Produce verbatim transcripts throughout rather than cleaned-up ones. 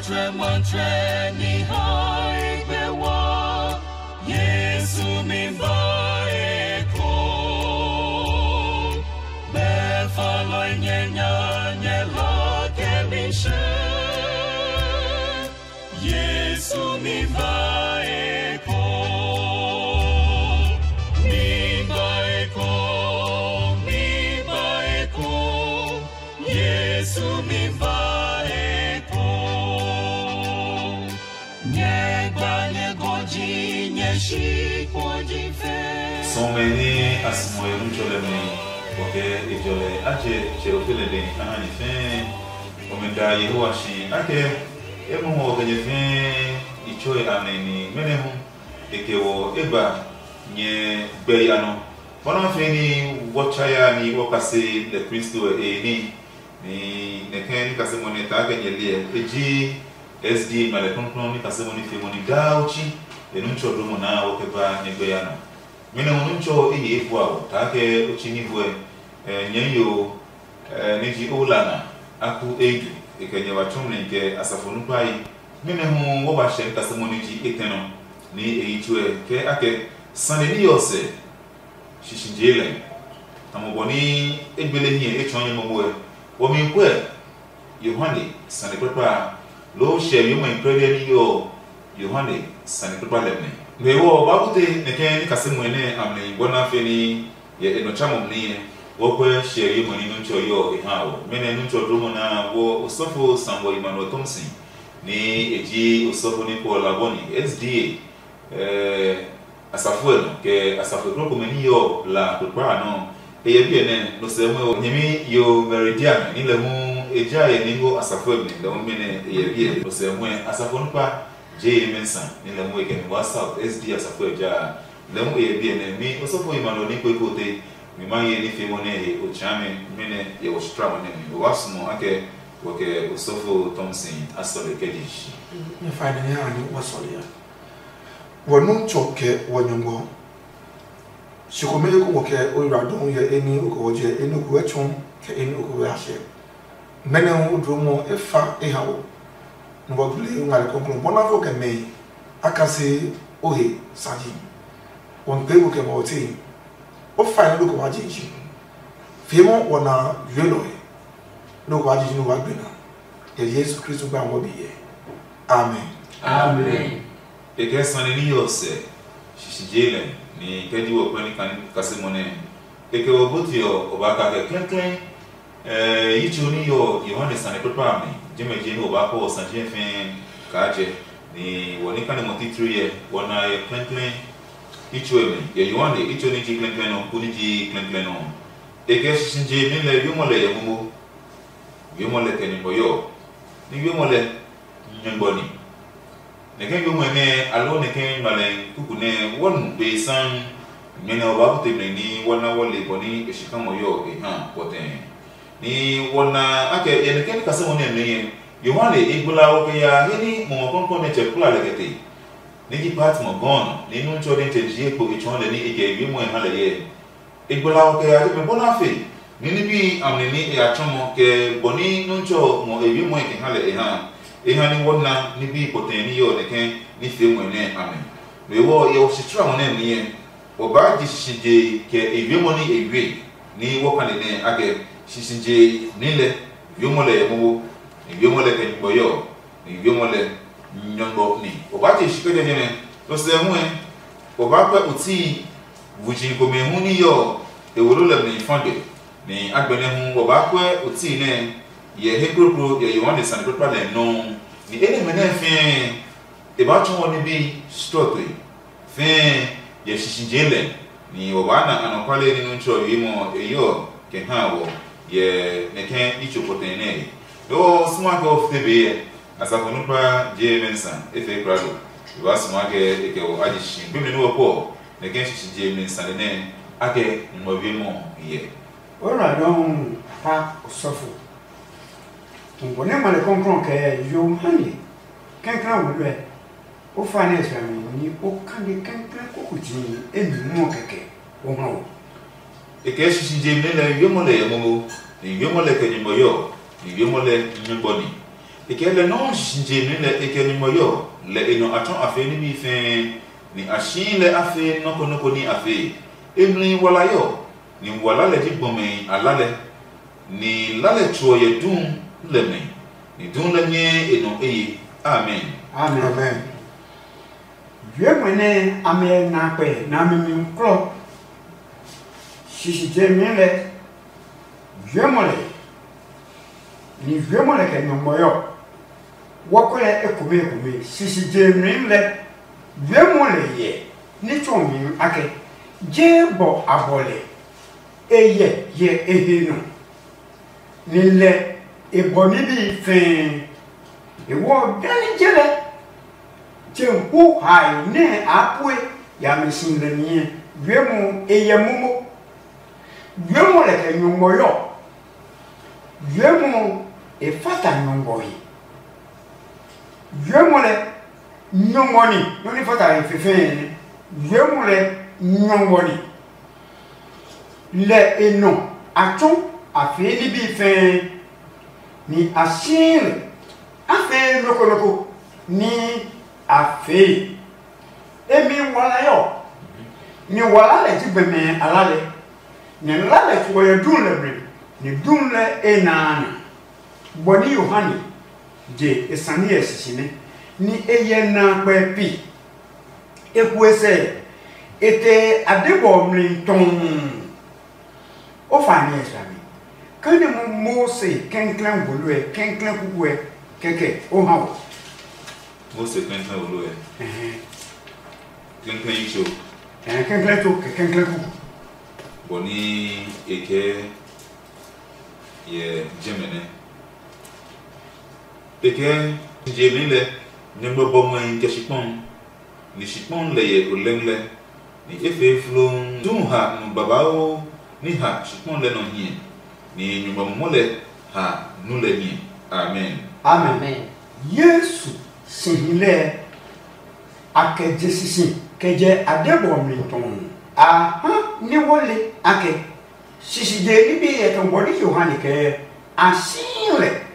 Tre mantre ni hai gbe wa, Yesu mi ba e ko. Be fa lai nye nya nye la ke mi she. Yesu mi ba e ko. Mi ba e ko. Mi ba e ko. Yesu mi ba e ko. Nyɛ gba nyɛ gɔji nyɛ shi kpo ji fe. Sɔmɛ ni a sumo e nuntsɔlɛ mi, kɔkɛ e jɔlɛ a jɛ tsɛ o fele de a ha nyɛ fɛɛ. Ɔmɛ da Yehowa shi akɛ e mɔ hɔ kɛ nyɛ fɛɛ i tsoe a mɛ ni mɛnɛ hu e kɛ wɔ e ba nyɛ gbɛ ya nɔ. Bɔna fɛɛ ni wɔ tsaya ni wɔ kase lɛ Kristo e ni. Ni nɛkɛ ni kase mo nɛ taa kɛ nyɛ liɛ e ji S D A malɛ krɔnkrɔn ni kase mo ni fe mo ni daa uchi e nu tsɔ dro mo naa wɔ kɛ ba nyɛ gbɛ ya nɔ. Mɛnɛ hu nu tsɔ e ye e fua o taa kɛ uchi ni huɛ nyɛ yo ni ji o la na aku e du e kɛ nyɛ wa tsɔmlɛ kɛ asafo nu kpai. Mɛnɛ hu wɔ ba hyɛ ni kase mo ni ji e tɛ nɔ ni e yi tsuɛ kɛ akɛ sane ni yɔ sɛ. Shishijee lɛ. Tamɔ bɔ nɛ e gbele hiɛ etsɔɔ nyɛ momo ɛ, wɔmiikuɛ Yohane sane kpakpa a, loo hyɛ wiemɔe krɛdɛɛ ní yɔɔ Yohane sane kpakpa lɛ mɛ. Ngmɛ ɔ, Bible te nɛ ke ní kasimɔe nɛ a mli bɔ na fe ní yɛ e nɔ tsa mo mli ɛ, wɔkuɛ hyɛ wiemɔe ní Nuntsɔ yɔɔ e ha ɔ. Mɛnɔ Nuntsɔ dlomɔ nɛ a wɔ osɔfo Samuel Emmanuel Thompson, ní e ji osɔfo ní Paul Laboni, S D A. Ɛɛ, asafo ɛ nɔ kɛ asafo e krɔko mɛ ní yɔ la kpekpa a nɔ. E yɛ biɛ nɛ nɔ sɛ mu ɔ nyɛmi yo Meridian ní lɛ hu e ja yɛ ní ngɔ asafo ɛ mi lɛ hu mɛ nɛ e yɛ biɛ nɔ sɛ mu ɛ asafo nukpa je ye mɛ sa ní lɛ hu e kɛ mi wa South S D asafo ɛ ja lɛ hu e yɛ biɛ nɛ mi osɔfo yi ma nɔ ní kwe ko te mi ma ye ní fe mo nɛ he o tsa mi mɛ nɛ yɛ wɔ sutra mo nɛ mi o wa sumɔ akɛ wɔ kɛ osɔfo Thompson asɔle kɛ je shi. Nyɛ fa ni ha ni wa sɔle ya. Wɔ nu tsɔ kɛ wɔ nyɔngmɔ. Si komɛ eko wɔ kɛ o yra dɔn yɛ eni o kɛ wɔ jɛ eni o kɛ wɔ tsɔ kɛ eni o kɛ wɔ yashɛ. Mɛnɛ hu o dro mɔ e fa e ha wɔ. Nɔ bɔ gbele o ngale kɔnklɔn bɔ na fo kɛ mɛ a ka se o he saji. Wɔ n kpe ko kɛ mɔ o te. O fa ni do ko wa je ji. Fie mɔ wɔ na yue lɔ he. Do ko wa je ji no wa gbe na. Yɛ Yesu Kristo gba wɔ bi yɛ. Amen. Amen. E kɛ sane ní yɔ sɛ shisije lɛ ní kɛ ji wɔ kpɛ ní kase mɔ nɛ e kɛ wɔ boti ɔ o ba ka kɛ klɛklɛ. Ɛɛ yi tso ní yɔ Yohane sane kpakpa a mi jɛmɛ je ní o ba kɔ sa je fɛɛ kaa jɛ ní wɔ ní kane mɔ titiri yɛ wɔ na yɛ klɛklɛ. Yi tso ɛ mi yɛ Yohane yi tso ní ji klɛklɛ nɔ ku ní ji klɛklɛ nɔ. E kɛ shisije mi lɛ wiemɔ lɛ yɛ momo. Wiemɔ lɛ kɛ nyumbɔ yɔ ní wiemɔ lɛ nyɔgbɔ ni. Nɛkɛ wiemɔ nɛ aloo nɛkɛ ngmalɛ kuku nɛ wɔ nu be saan. Mɛnɛ ɔ ba kute mɛ ní wɔ na wɔ le bɔ ní e shi kamɔ yɔ e ha pɔtɛɛ. Ní wɔ na akɛ yɛ nɛkɛ ní kasɛmɔ nɛ mɛ yɛ Yohane e gbla wɔ kɛ ya he ní mɔmɔ kɔnkɔn nɛ tsɛ kpla lɛ kɛ te. Ní ji Patmɔ gɔɔ nɔ ní Nuntsɔ nɛ tsɛ jie kpo e tsɔɔ lɛ ní e kɛ wiemɔ e ha lɛ yɛ. E gbla ɔ kɛ ya jɛmɛ bɔ na fe ní ní bí amli ní e ya tsɔmɔ kɛ bɔ ní Nuntsɔ ngɔ e wiemɔe kɛ ha lɛ e ha. E ha ní wɔ na ní bí pɔtɛɛ ní yɔ nɛkɛ ní fee mɔe nɛ a mi. Lo ewɔ yɛ wɔ shi tsra mɔ nɛ mi yɛ. Wɔ baa je shisije kɛ e wiemɔ ní e wie ní wɔ kane nɛ a kɛ shisije ní lɛ wiemɔ lɛ yɛ momo. E wiemɔ lɛ kɛ nyugbɔ yɔ. Ni wiemɔ lɛ nyɔngmɔ ni o ba je shi kɛ jɛjɛ nɛ. Lo sɛ hu ɛ o ba pɛ o tii vuji komɛ hu ní yɔ e wo lɛ mi fa gbe. Ni agbɛnɛ hu o ba pɛ o tii nɛ yɛ he krokro yɛ Yohane sane kpakpa lɛ nɔuu. Ni enɛmɛ nɛ fɛɛ e ba tsɔɔ ní bi srɔtoi fɛɛ yɛ shisije lɛ. Ni o ba na anɔkuale ní Nuntsɔ wiemɔ e yɔ kɛ ha wɔ yɛ nɛkɛ itso kpɔtɛ nɛ. Loo sumakɛ o fite be yɛ. Asafo nukpa je mɛ nsa e fɛ krado. E ba sumakɛ e kɛ wɔ a ji shi gbemi ni wɔ kɔ nɛkɛ shishi je mɛ nsa nɛ akɛ nyumbɔ wiemɔ yɛ. O ra dɔn pa osɔfo. Ngbɔ ne ma le kɔnkrɔn kɛ Yohane kɛnkɛn wo lɛ. O fa ne sra mi ni o kande kɛnkɛn kokuti e mi mu kɛkɛ o ha o. E kɛ shishi je mɛ lɛ wiemɔ lɛ yɛ momo, ni wiemɔ lɛ kɛ nyumbɔ yɔ, ni wiemɔ lɛ nyumbɔ ni. E kɛ lɛ nɔuu sisi je mli lɛ e kɛ nyumu ɔ yɔɔ, lɛ e nɔ a tsɔ a fee níbi fɛɛ, nɛ a sii lɛ a fee nɔ́ ko nɔ́ ko ní a fee. E mli wala yɔɔ, ni wala lɛ ji gbɔmɛi a la lɛ, ni la lɛ tso ɔ yɛ duu lɛ mɛ, ni duu lɛ nyɛɛ e nɔ eye. Amen. Amen. Amen. Wiemɔ nɛ a mɛ na kpɛ nɛ a mi mi klɔ sisi je mi lɛ, wiemɔ lɛ, ni wiemɔ lɛ kɛ nyɔngmɔ yɔ. Wɔkɔ lɛ ekome ekome sisi je mi lɛ, wiemɔ lɛ yɛ ní tso mi akɛ, je bɔ a bɔ lɛ, e yɛ yɛ e he nɔ, ni lɛ e bɔ níbi fɛɛ. E wɔ dani je lɛ, je hu hae nɛ a pue ya mi si lɛ niɛ. Wiemɔ e yɛ momo. Wiemɔ lɛ kɛ nyɔngmɔ yɔ. Wiemɔ e fata nyɔngmɔ he. Wiemɔ lɛ nyɔngmɔ ni, nɔ ni fata he fɛfɛɛ nɛ. Wiemɔ lɛ nyɔngmɔ ni. Lɛ e nɔ a tsɔ a fee ní bi fɛɛ, ni a sii lɛ a fee nɔ́ ko nɔ́ ko ní a fee. E mi wala yɔ, ni wala lɛ ji gbɛmɛ a la lɛ, nɛ la lɛ tso ɔ yɛ dun lɛ mli, ni dun lɛ e na a nɔ. Bɔ ní Yohane je e sane ɛ sisi nɛ, ni e yɛ na kpɛ pi. E kuɛ sɛ, e te a de bɔ mli tɔɔ. O fa ni ɛ sami. Kani mo Mose kɛnklɛn wolo ɛ, kɛnklɛn kuku ɛ, kɛkɛ o ha o. Mose kɛnklɛn wolo ɛ. Ɛhɛn. Kɛnklɛn yi tso. Ɛhɛn, kɛnklɛn tso kɛ kɛnklɛn kuku. Bɔ ni e kɛ yɛ jɛmɛ nɛ. E kɛ je mi lɛ, nyɛ gbɔ bɔ ngmɛhi kɛ shikpɔn. Ni shikpɔn lɛ yɛ olɛng lɛ, ni e fee floŋ. Duu ha nu babauu ni ha shikpɔn lɛ nɔ hiɛ, ni nyumu momo lɛ ha nu lɛ hiɛ. Amen. Amen. Yesu si hi lɛ a kɛ je sisi kɛ jɛ a de bɔ mi tɔɔ. A ha ni wo le a kɛ sisi je ni bi yɛ tɔ bɔ ni Yohane kɛ a si lɛ.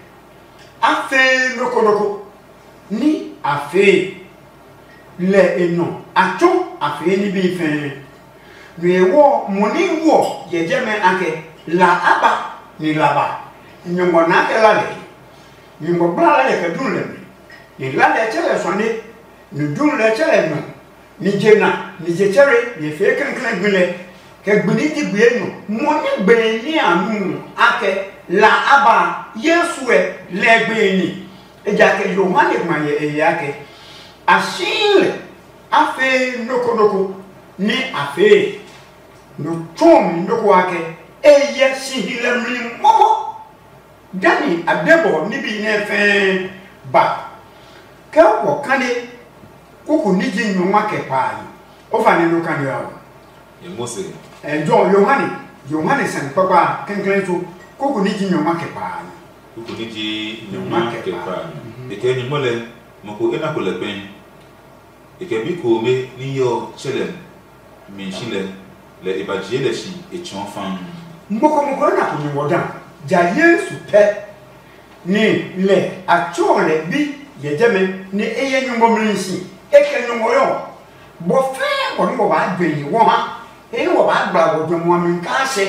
A fee nɔ́ ko nɔ́ ko ní a fee lɛ e nɔ a tsɔ a fee ní bí fɛɛ. Nɔ e wɔ mo ní wɔ yɛ jɛmɛ a kɛ la a ba ni la ba. Nyɔngmɔ naa kɛ la lɛ, nyɔngmɔ gbla la lɛ kɛ dun lɛ mi, ni la lɛ tsɛ lɛ suane, ni dun lɛ tsɛ lɛ nɔ. Ni je na, ni je tsɛre, ni e fee klɛklɛ gbi lɛ, kɛ gbi ní ji gbi enyɔ. Mo ní gbe ní a nu a kɛ la a ba Yesu ɛ lɛ gbe ní. Ejakaa Yohane ngma yɛ e he akɛ, a sii lɛ, a fee nɔ́ ko nɔ́ ko ní a fee. Nɔ tsɔɔ mi nɔ́ ko akɛ, e yɛ si hi lɛ mli momo. Dani a de bɔ níbi nɛ fɛɛ ba. Ke wɔ kane kuku ní ji nyɔngma kɛ pa a nɔ, o fa nɛ nɔ kane ɔ. Ye Mose. Ɛ jɔ Yohane, Yohane sane kpakpa kɛnklɛn tso kuku ní ji nyɔngma kɛ pa a nɔ. Kuku ní ji nyɔngma kɛ pa a nɔ. E kɛ nyɔngma lɛ, mɔ ko e na ko lɛ kpɛn. E kɛ bi komɛ ní yɔ tsɛ lɛ mi si lɛ, lɛ e ba jie lɛ si e tsɔɔ fãa. Mɔkɔmɔkɔ na ko nyɔngmɔ da ja Yesu pɛ, ni lɛ a tsɔɔ lɛ bi yɛ jɛmɛ, ni e yɛ nyɔngmɔ mli si. E kɛ nyɔngmɔ yɔ bɔ fɛɛ bɔ nɛ wɔ baa gbe yi wɔ ha, he nɛ wɔ baa gbla wɔ jɔmɔ a mi kaa sɛ.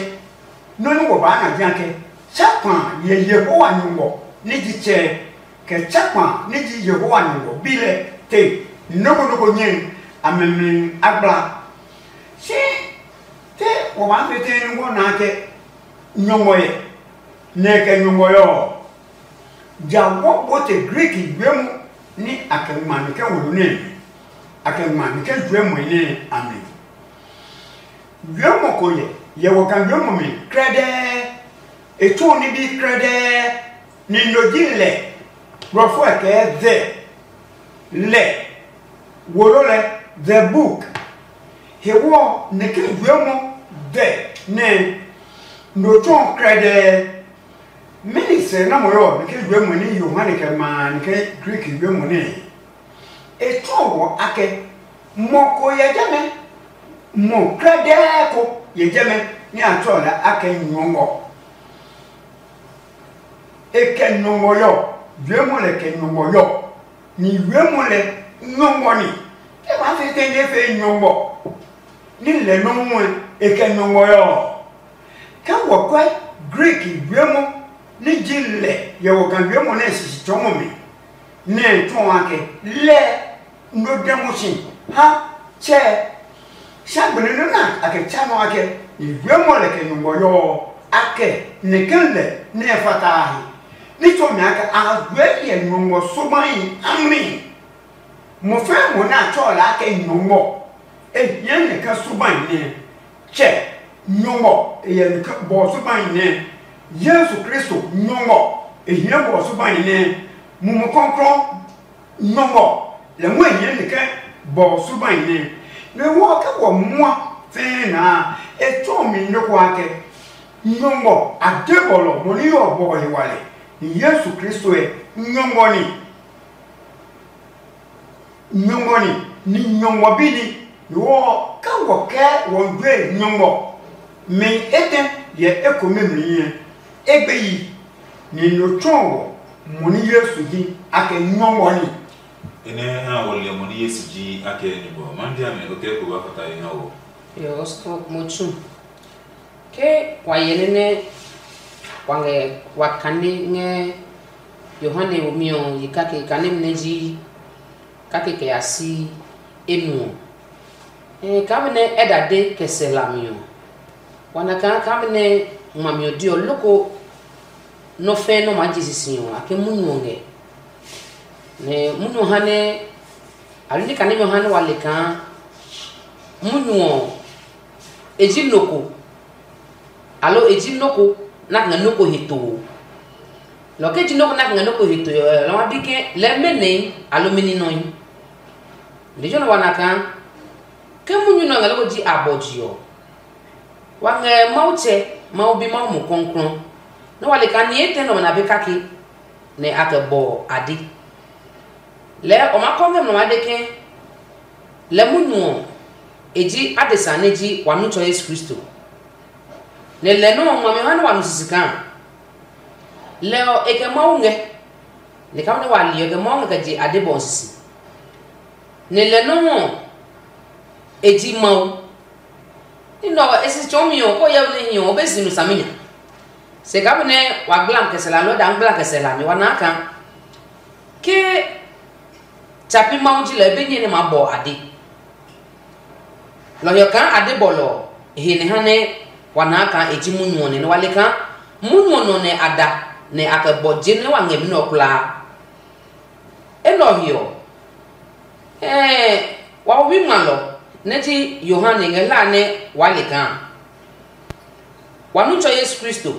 Nɔ́ nɛ wɔ baa na ji akɛ tsa kpa yɛ Yehowa nyɔngmɔ ní ji tsɛ, kɛ tsa kpa ní ji Yehowa nyɔngmɔ bi lɛ te nɔ́ ko nɔ́ ko nyɛe a mɛmɛ a gbla. Si te wɔ maa fete ní wɔ naa kɛ nyɔngmɔ yɛ, nɛ kɛ nyɔngmɔ yɛ ɔ, ja wɔ bɔ te Griki wiemɔ ní a kɛ ngma mi kɛ wolo nɛ, a kɛ ngma mi kɛ juɛmɔe nɛ a mi. Wiemɔ ko yɛ yɛ wɔ kan wiemɔ mi krɛdɛɛ. E tsu ní bi krɛdɛɛ, ni no ji lɛ. Blɔfo ɛ kɛɛ the, lɛ, wolo lɛ, the book. Hewɔ nɛ ke wiemɔ the nɛ no tsɔ krɛdɛɛ. Mɛni sɛ na mo yɔ nɛ ke wiemɔ ni Yohane kɛ ma nɛ ke Greek wiemɔ nɛ? E tsɔ wɔ akɛ mɔ ko yɛ jɛmɛ, mɔ krɛdɛɛ ko yɛ jɛmɛ ni a tsɔ lɛ akɛ nyɔngɔ. E kɛ nyɔngɔ yɔ. Wiemɔ lɛ kɛ nyɔngmɔ yɔ, ni wiemɔ lɛ nyɔngmɔ ni. Ke maa fee tɛnɛ fee nyɔngmɔ, ní lɛ nɔuu ɔ, e kɛ nyɔngmɔ ɔ. Ke wɔ kɔɛ Greek wiemɔ ní ji lɛ yɛ wɔ ga wiemɔ nɛ sisi tsɔɔmɔ mi, nɛ e tsɔɔ a ke lɛ no dɛ mo si ha tsɛ. Sa gbene nɔ na a kɛ tsa nɔ akɛ ni wiemɔ lɛ kɛ nyɔngmɔ yɔ ɔ, a kɛ nɛ ke lɛ nɛ e fata a he. Ní tsɔɔ mi akɛ a ha gbɛɛ yɛ nyɔngmɔ subahi amli. Mo fɛɛ mo nɛ a tsɔɔ lɛ akɛ nyɔngmɔ, e hiɛ nɛ ke subahi nɛ. Tsɛ, nyɔngmɔ e yɛ nɛ ke bɔ subahi nɛ. Yesu Kristo nyɔngmɔ e hiɛ bɔ subahi nɛ. Mumi kɔklɔ nyɔngmɔ lɛ hu e hiɛ nɛ ke bɔ subahi nɛ. Nɛ wɔ ke wɔ mua fɛɛ naa e tsɔɔ mi nɛ ko akɛ nyɔngmɔ a de bɔlɔ mo ní yɔ bɔ he wale. Ni Yesu Kristo ɛ nyɔngmɔ ni. Nyɔngmɔ ni, ni nyɔngmɔ bi ni. Ni wɔ ke wɔ kɛ wɔ jue nyɔngmɔ mi etɛ yɛ ekome mi nyɛ egbe yi. Ni no tsɔɔ wɔ mo ní Yesu ji akɛ nyɔngmɔ ni. Enɛ ha wɔ lɛ mo ní Yesu ji akɛ nyɔngmɔ. Ma bi ame o kɛ ko ba fata yi ha wɔ. Yo, osɔfo mo tsu. Ke wa yɛ nɛ nɛ wa ngɛ wa kane ngɛ Yohane womi ɔ yi kake kane nɛ ji kake kɛ ya si enu ɔ. Ɛɛ, kaa be nɛ Ɛda de kɛ sɛ hlami ɔ, wa na kaa kaa be nɛ ngmami ɔ de ɔ, loko nɔ́ fɛ́ nɔ́ maa je sisi ɔ, a ke munyu ɔ ngɛ. Nɛ munyu ɔ ha nɛ, alo ní kaa nɛmɛ ɔ ha nɛ wa le kaa munyu ɔ, e ji nɔ ko, alo e ji nɔ ko nɛ a ngɛ nɔ ko he too. Lɔ ke ji nɔ ko nɛ a ngɛ nɔ ko he too ɔ, lɔ ma bi ke lɛɛ mɛnɛi alo mɛni nɔe. Lejɛ nɛ wa na kaa ke munyu nɛ ɔ ngɛ loko ji abɔji ɔ, wa ngɛ Mawu Tsɛ, Mawu Bi, Mawu Mumi Klɔuklɔu, nɛ wa le kaa nihi etɛ nɛ ɔmɛ na be kake, nɛ a kɛ bɔ a de. Lɛɛ o maa kɔ ngɛ nɔ maa de ke lɛ munyu ɔ, e ji adesa nɛ ji wa Nutsɔ Yesu Kristo. Nɛ lɛ nɔ́ ɔ ngmami ha nɛ wa nu sisi kaa. Lɛ ɔ, e kɛ Mawu ngɛ, nɛ kaa nɛ wa li ɔ, e kɛ Mawu ngɛ kɛ je adebɔ ɔ sisi. Nɛ lɛ nɔ́ ɔ, e ji Mawu. Ní nɛ ɔ, e si tsɔɔmi ɔ, kó hyɛ we nɛ hi ɔ, o be si nu saminya. Se kaa benɛ wa gblami kɛ sɛ hlami, lɔɔ daa gblami kɛ sɛ hlami, wa naa kaa ke tsapi Mawu ji lɛ, e be nyɛ nɛ maa bɔ ade. Lɔ ɔ kaa ade bɔlɔ ɔ he nɛ ha nɛ wa naa kaa e ji munyu ɔ nɛ, nɛ wa le kaa munyu ɔ nɔ nɛ a da nɛ a kɛ bɔ je nɛ wa ngɛ mi nɛ ɔ kulaa. Enɛ ɔ he ɔ, ɛɛ, wawɛmi ngmalɔ nɛ ji Yohane ngɛ hlaa nɛ waa le kaa wa Nutsɔ Yesu Kristo,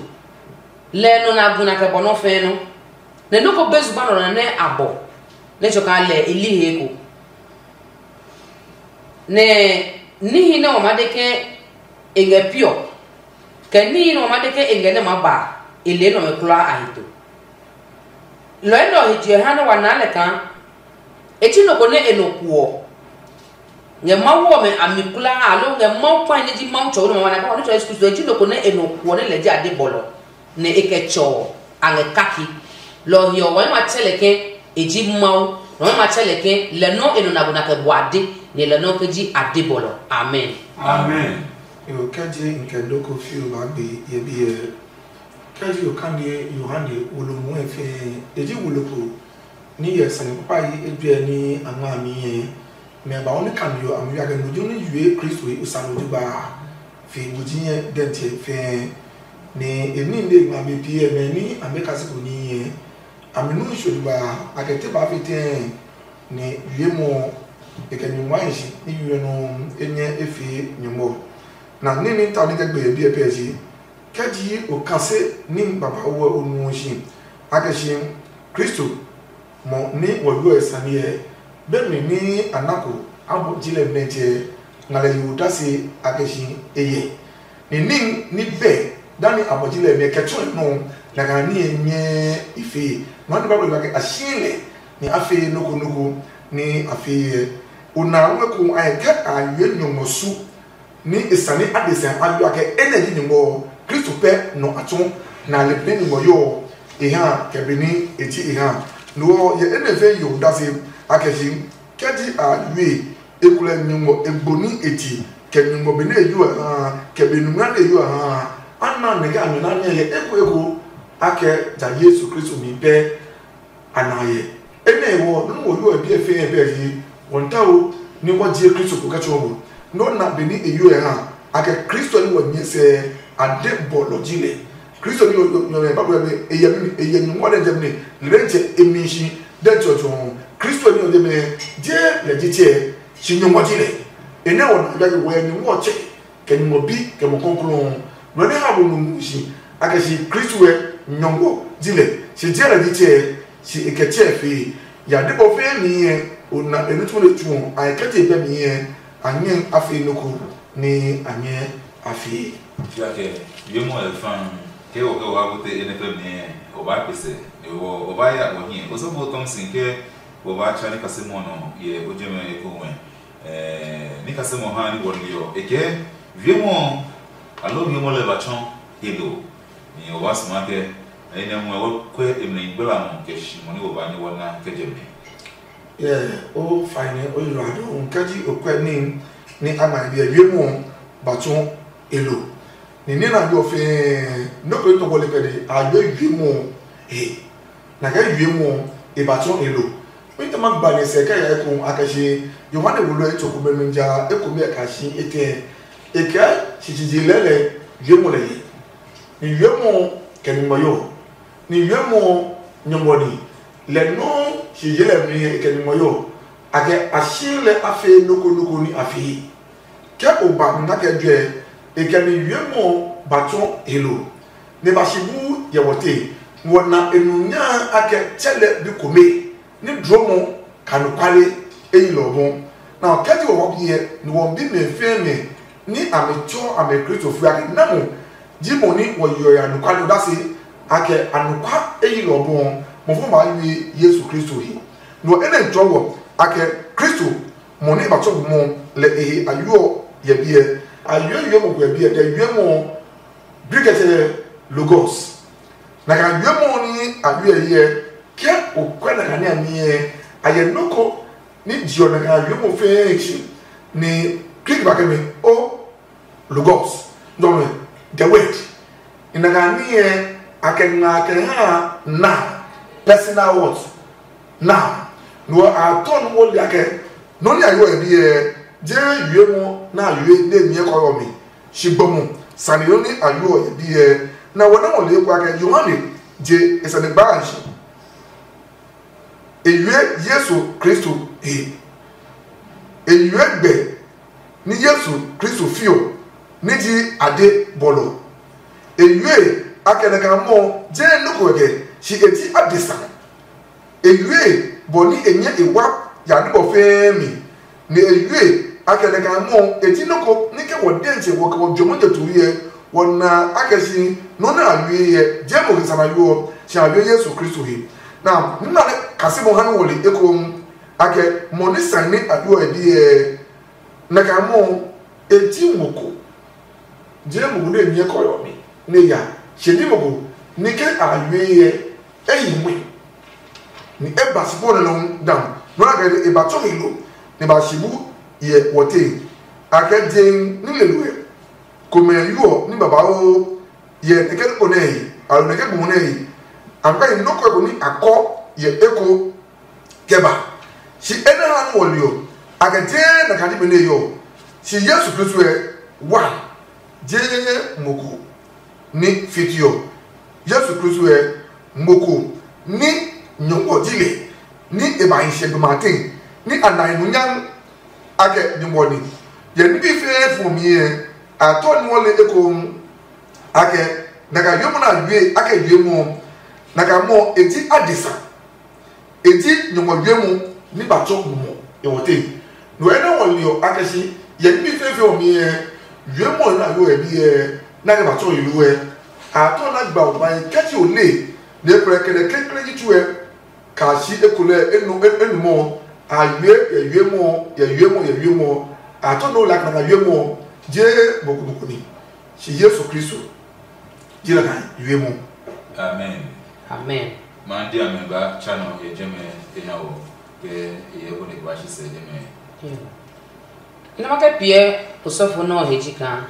lɛ ɔ nɔ nɛ a gu nɛ a kɛ bɔ nɔ́ fɛɛ nɔ́, nɛ nɔ́ ko be zugba nɔ nɛ a bɔ nɛ tsɔ kaa lɛ e li he eko. Nɛ níhi nɛ wa maa de ke e ngɛ pi ɔ, kɛ níhi nɛ wa maa de ke e ngɛ nɛ maa ba a, e le enɛ ɔmɛ kulaa a he to. Lɔ enɛ ɔ he je ɔ ha nɛ wa naa lɛ kaa e ji nɔ ko nɛ e nɔ kuɔ ngɛ Mawu ɔmɛ a mi kulaa, aloo ngɛ Mawu kpahi nɛ ji Mawu tsɔwi nɛ ma wa na kaa wa Nutsɔ Yesu Kristo, e ji nɔ ko nɛ e nɔ kuɔ nɛ lɛ ji ade bɔlɔ, nɛ e kɛ tsɔ ɔ a ngɛ kake. Lɔ ɔ he ɔ, wa nyɛ ma tsɛ lɛ ke e ji Mawu, nɛ wa nyɛ ma tsɛ lɛ ke lɛ nɔ́ e nɔ na ko na kɛ bɔ ade, nɛ lɛ nɔ́ ke ji ade bɔlɔ. Amen. Amen. Yo, kɛ je n kɛ doko fiu ba gbe ye biɛ. Kɛ ji okandi Yohane wolo muɛ fɛɛ, e ji wolo ko ní yɛ sane kpakpa yi ejuɛ ní a ngma a mi yɛ. Mɛ ba ɔ ní kami ɔ a mi ya kɛ no jo ní yue Kristo he osano jugba a, fi nguji nyɛ dɛntsɛ fɛɛ. Nɛ e ní nde ngma be piɛ mɛ ní amɛ kasi ko ní yɛ. A mi nu nso jugba a, a kɛ te ba fi tɛɛ, nɛ yue mɔ ɔ, e kɛ nyɔngma hi si ní yue nɔ e nyɛ e fee nyɔngmɔ. Na ní ní ta ní kɛ gbe biɛ pɛ ji. Kɛ ji o kase ní babauu ɔ o nuɔ si, a kɛ si Kristo mɔ ní wɔ yuɔ e sane ɛ, be mi ní a na ko a bɔ ji lɛ mɛ jɛ nga lɛ yo dasi a kɛ si e yɛ. Ni ní ní bɛ dani a bɔ ji lɛ mɛ kɛ tsɔɔ nɔ, na ka ní e nyɛ i fee. Nɔ ni Bible ba ke a si lɛ ni a fee noko noko ni a fee yɛ. O na ngɔ ko a yɛ kɛ a yue nyɔngmɔ su. Ní e sane adesã a yo akɛ enɛ ji nyɔngmɔ ɔ, Kristo pɛ nɔ a tsɔɔ, nɛ a le benɛ nyɔngmɔ ɔ. e ha kɛ be ní e ji e ha. Lo ɔ yɛ enɛ fɛ yo dase a kɛ si kɛ ji a yue e kulɛ nyuŋmɔ egbo ní e ti kɛ nyuŋmɔ be ní e yu ɛ ha kɛ be nunga ní e yu ɛ ha. A na nɛ kɛ a nyɔ na nyɛ yɛ eko eko a kɛ ja Yesu Kristo mi pɛ a na yɛ. Enɛ ɔ nɔ́ nɛ wo yu ɛ biɛ fɛɛ bɛ yi wɔntawo ní wɔ jie Kristo ko kɛ tsɔɔ mo. Nɔ́ na be ní e yu ɛ ha a kɛ Kristo ní wɔ nyɛ sɛ a de bɔlɔ ji lɛ. Kristo ní yɔ yɔ yɔ ba bɔ e yɛ mi e yɛ nyumu ɔ dɛ jɛ mi lɛ tsɛ e mi shi dɛ tsɔ tsɔ. Kristo ní yɔ de mi je lɛ ji tsɛ shi nyumu ji lɛ. Enɛ ɔ na ya wɔ nyumu ɔ tsɛ kɛ nyumu bi kɛ mo kɔnklɔn. Nɔ ne ha mo nu mu shi a kɛ shi Kristo ɛ nyɔngɔ ji lɛ shi je lɛ ji tsɛ shi e kɛ tsɛ fee. Ya de bɔ fɛɛ mi ɛ o na e nu tsuo le tsuo a e kɛ je bɛ mi ɛ a nyɛ a fee noko ni a nyɛ a fee. Tsuakɛ, wiemɔ ɔ fa ke o kɛ o ha bute e nɛ pɛ mɛ o ba kpesɛ, o ba ya o hiɛ o sɔfo tɔm si ke o ba tsa ni kasimɔ nɔ yɛ o jɛmɛ eko wɛ. Ni kasimɔ ha ni wɔ liɔ e kɛ wiemɔ alo wiemɔ lɛ ba tsɔ e lo. Ni o ba suma kɛ ni nɛ mu o kwɛ e mɛ gbla mɔ kɛ shi mɔ ni o ba ni wɔ na kɛ jɛmɛ. Yeah, o fine o yiro ado nka ji o kwɛ ni ni ama bi e wiemɔ ba tsɔ e lo. Ni ni na yo fe no ko to wole pede a yo wiemɔ he. Na kɛ wiemɔ e ba tsɔ e lo. Mi ta ma gba ne sɛ kɛ ya eko a kɛ shi Yohane wo lo e to ko be mi ja eko be ka shi e tɛ. E kɛ shi ji ji lɛlɛ wiemɔ lɛ ye. Ni wiemɔ kɛ ni ngmɔ yo. Ni wiemɔ nyɔngɔ ni lɛ nɔuu shi ye lɛ mi he kɛ ni ngmɔ yo. A kɛ a shi lɛ a fee noko noko ni a fee. Ke o ba nna kɛ juɛ, e kɛ mi wiemɔ ba tsɔ he lo, nɛ e ba shi bu yɛ wɔ te. Wɔ na e nu nyaa a kɛ tsɛ lɛ bi kome, ní dlɔmɔ ka anɔkuale e yi lɛ ɔ bɔ. Nɛ ɔ kɛ ji wɔ bi hyɛ, nɛ wɔ bi mɛ fɛɛ mɛ ní a mi tsɔ a mi Kristo fue a kɛ na mo ji mo ní wɔ yeɔ ya anɔkuale odase a kɛ anɔkua e yi lɛ ɔ bɔ. Mo fɔ maa yue Yesu Kristo he. Nɛ ɔ enɛ tsɔɔ wɔ a kɛ Kristo mɔ nɛ e ba tsɔ bu mɔ lɛ e he a yuɔ yɛ biɛ. A yuɛ yuɛ mɔ ko yɛ biɛ, kɛ yuɛ mɔ bi kɛ tsɛ logos. Na ka yuɛ mɔ ni a yuɛ yɛ kɛ o kwɛ na ka ni a niɛ a yɛ nɔ ko ni jiɔ na ka yuɛ mɔ fɛɛ tsi ni Greek ba kɛ mi o logos, dɔmɛ the word. Ina ka niɛ a kɛ nga kɛ ha na personal word. Now, no a tɔ no wo lia kɛ no ni a yo ebi ɛ je yue mo na yue de mi kɔ yo mi. Shi gbomu sani no ni a yo ebi ɛ na wo na wo le kwa kɛ Yohane je e sani ba shi. E yue Yesu Kristo he. E yue gbe ní Yesu Kristo fiɔ ní ji ade bɔlɔ. E yue akɛ nɛ kaa mɔ jee nɔ́ ko kɛ shi e ji adesa. E yue bɔ ní e nyɛ e wa ya ní bɔ fɛɛ mi, nɛ e yue akɛ nɛ kaa mɔ e ji nɔ́ ko ní kɛ wɔ dɛntsɛ wɔ kɛ wɔ jɔmɔ jɛ tuu yɛ wɔ na akɛ si nɔ́ nɛ a yue yɛ jee mo kisa na yo ɔ, shi a yue Yesu Kristo he. Na nuna nɛ kasi mo ha ní wɔ le ekoŋ. Akɛ mɔ ní sane nɛ a bi ɔ e biɛ nɛ kaa mɔ e ji mo ko je mo ko nɛ nyɛ kɔyɔ mi nɛ ya she ní mo ko ní ke a yue yɛ e yi mui ni e ba si bɔ nɛ nɔ dam nɔ na kɛ e ba tsɔ mi lo ni ba shi bu yɛ wɔ te. Akɛ je ní le lo yɛ komɛ yu ɔ ní babauu yɛ nɛkɛ nukpo nɛ yi alo nɛkɛ bu nɛ yi amka yi nɔ́ ko eko ní a kɔ yɛ eko kɛ ba. Shi enɛ ha nú wɔli ɔ a kɛ jee na kadi be nɛ yɔ shi Yesu Kristo ɛ wa jee mo ko ní fiti ɔ. Yesu Kristo ɛ mo ko ní nyɔngɔ ji lɛ ní e ba hi sɛ gbema tee ní a na e nu nyam. Akɛ nyɔngɔ ni yɛ ní bi fɛɛ fɔ mi ɛ a tɔ ní wɔle ekoŋ. Akɛ na ka yue mo na yue akɛ yue mo na ka mɔ e ji adesa. E ji nyɔngɔ yue mo ní ba tsɔ mo mɔ e wɔ te. No ɛnɛ wɔ liɔ akɛ si yɛ ní bi fɛɛ fɛɛ ɔ mi ɛ yue mo na yo ɛ bi ɛ na kɛ ba tsɔ yi lu ɛ. A tɔ na gba o ba yi kɛti o le ne kplɛ kɛnɛ kekle yi tsu ɛ ka si ekolɛ enu enu mɔ a yue yɛ yue mo yɛ yue mo yɛ yue mo a tɔ no la kana ka yue mo je bokubokuni si Yesu Kristo ji la ka yue mo. Amen. Amen. Ma di amɛ ba tsa nɔ yɛ jɛmɛ e na wɔ kɛ e yɛ ko ne ba shi sɛ jɛmɛ. Nɛ ma kɛ piɛ osɔfo nɔ he ji kaa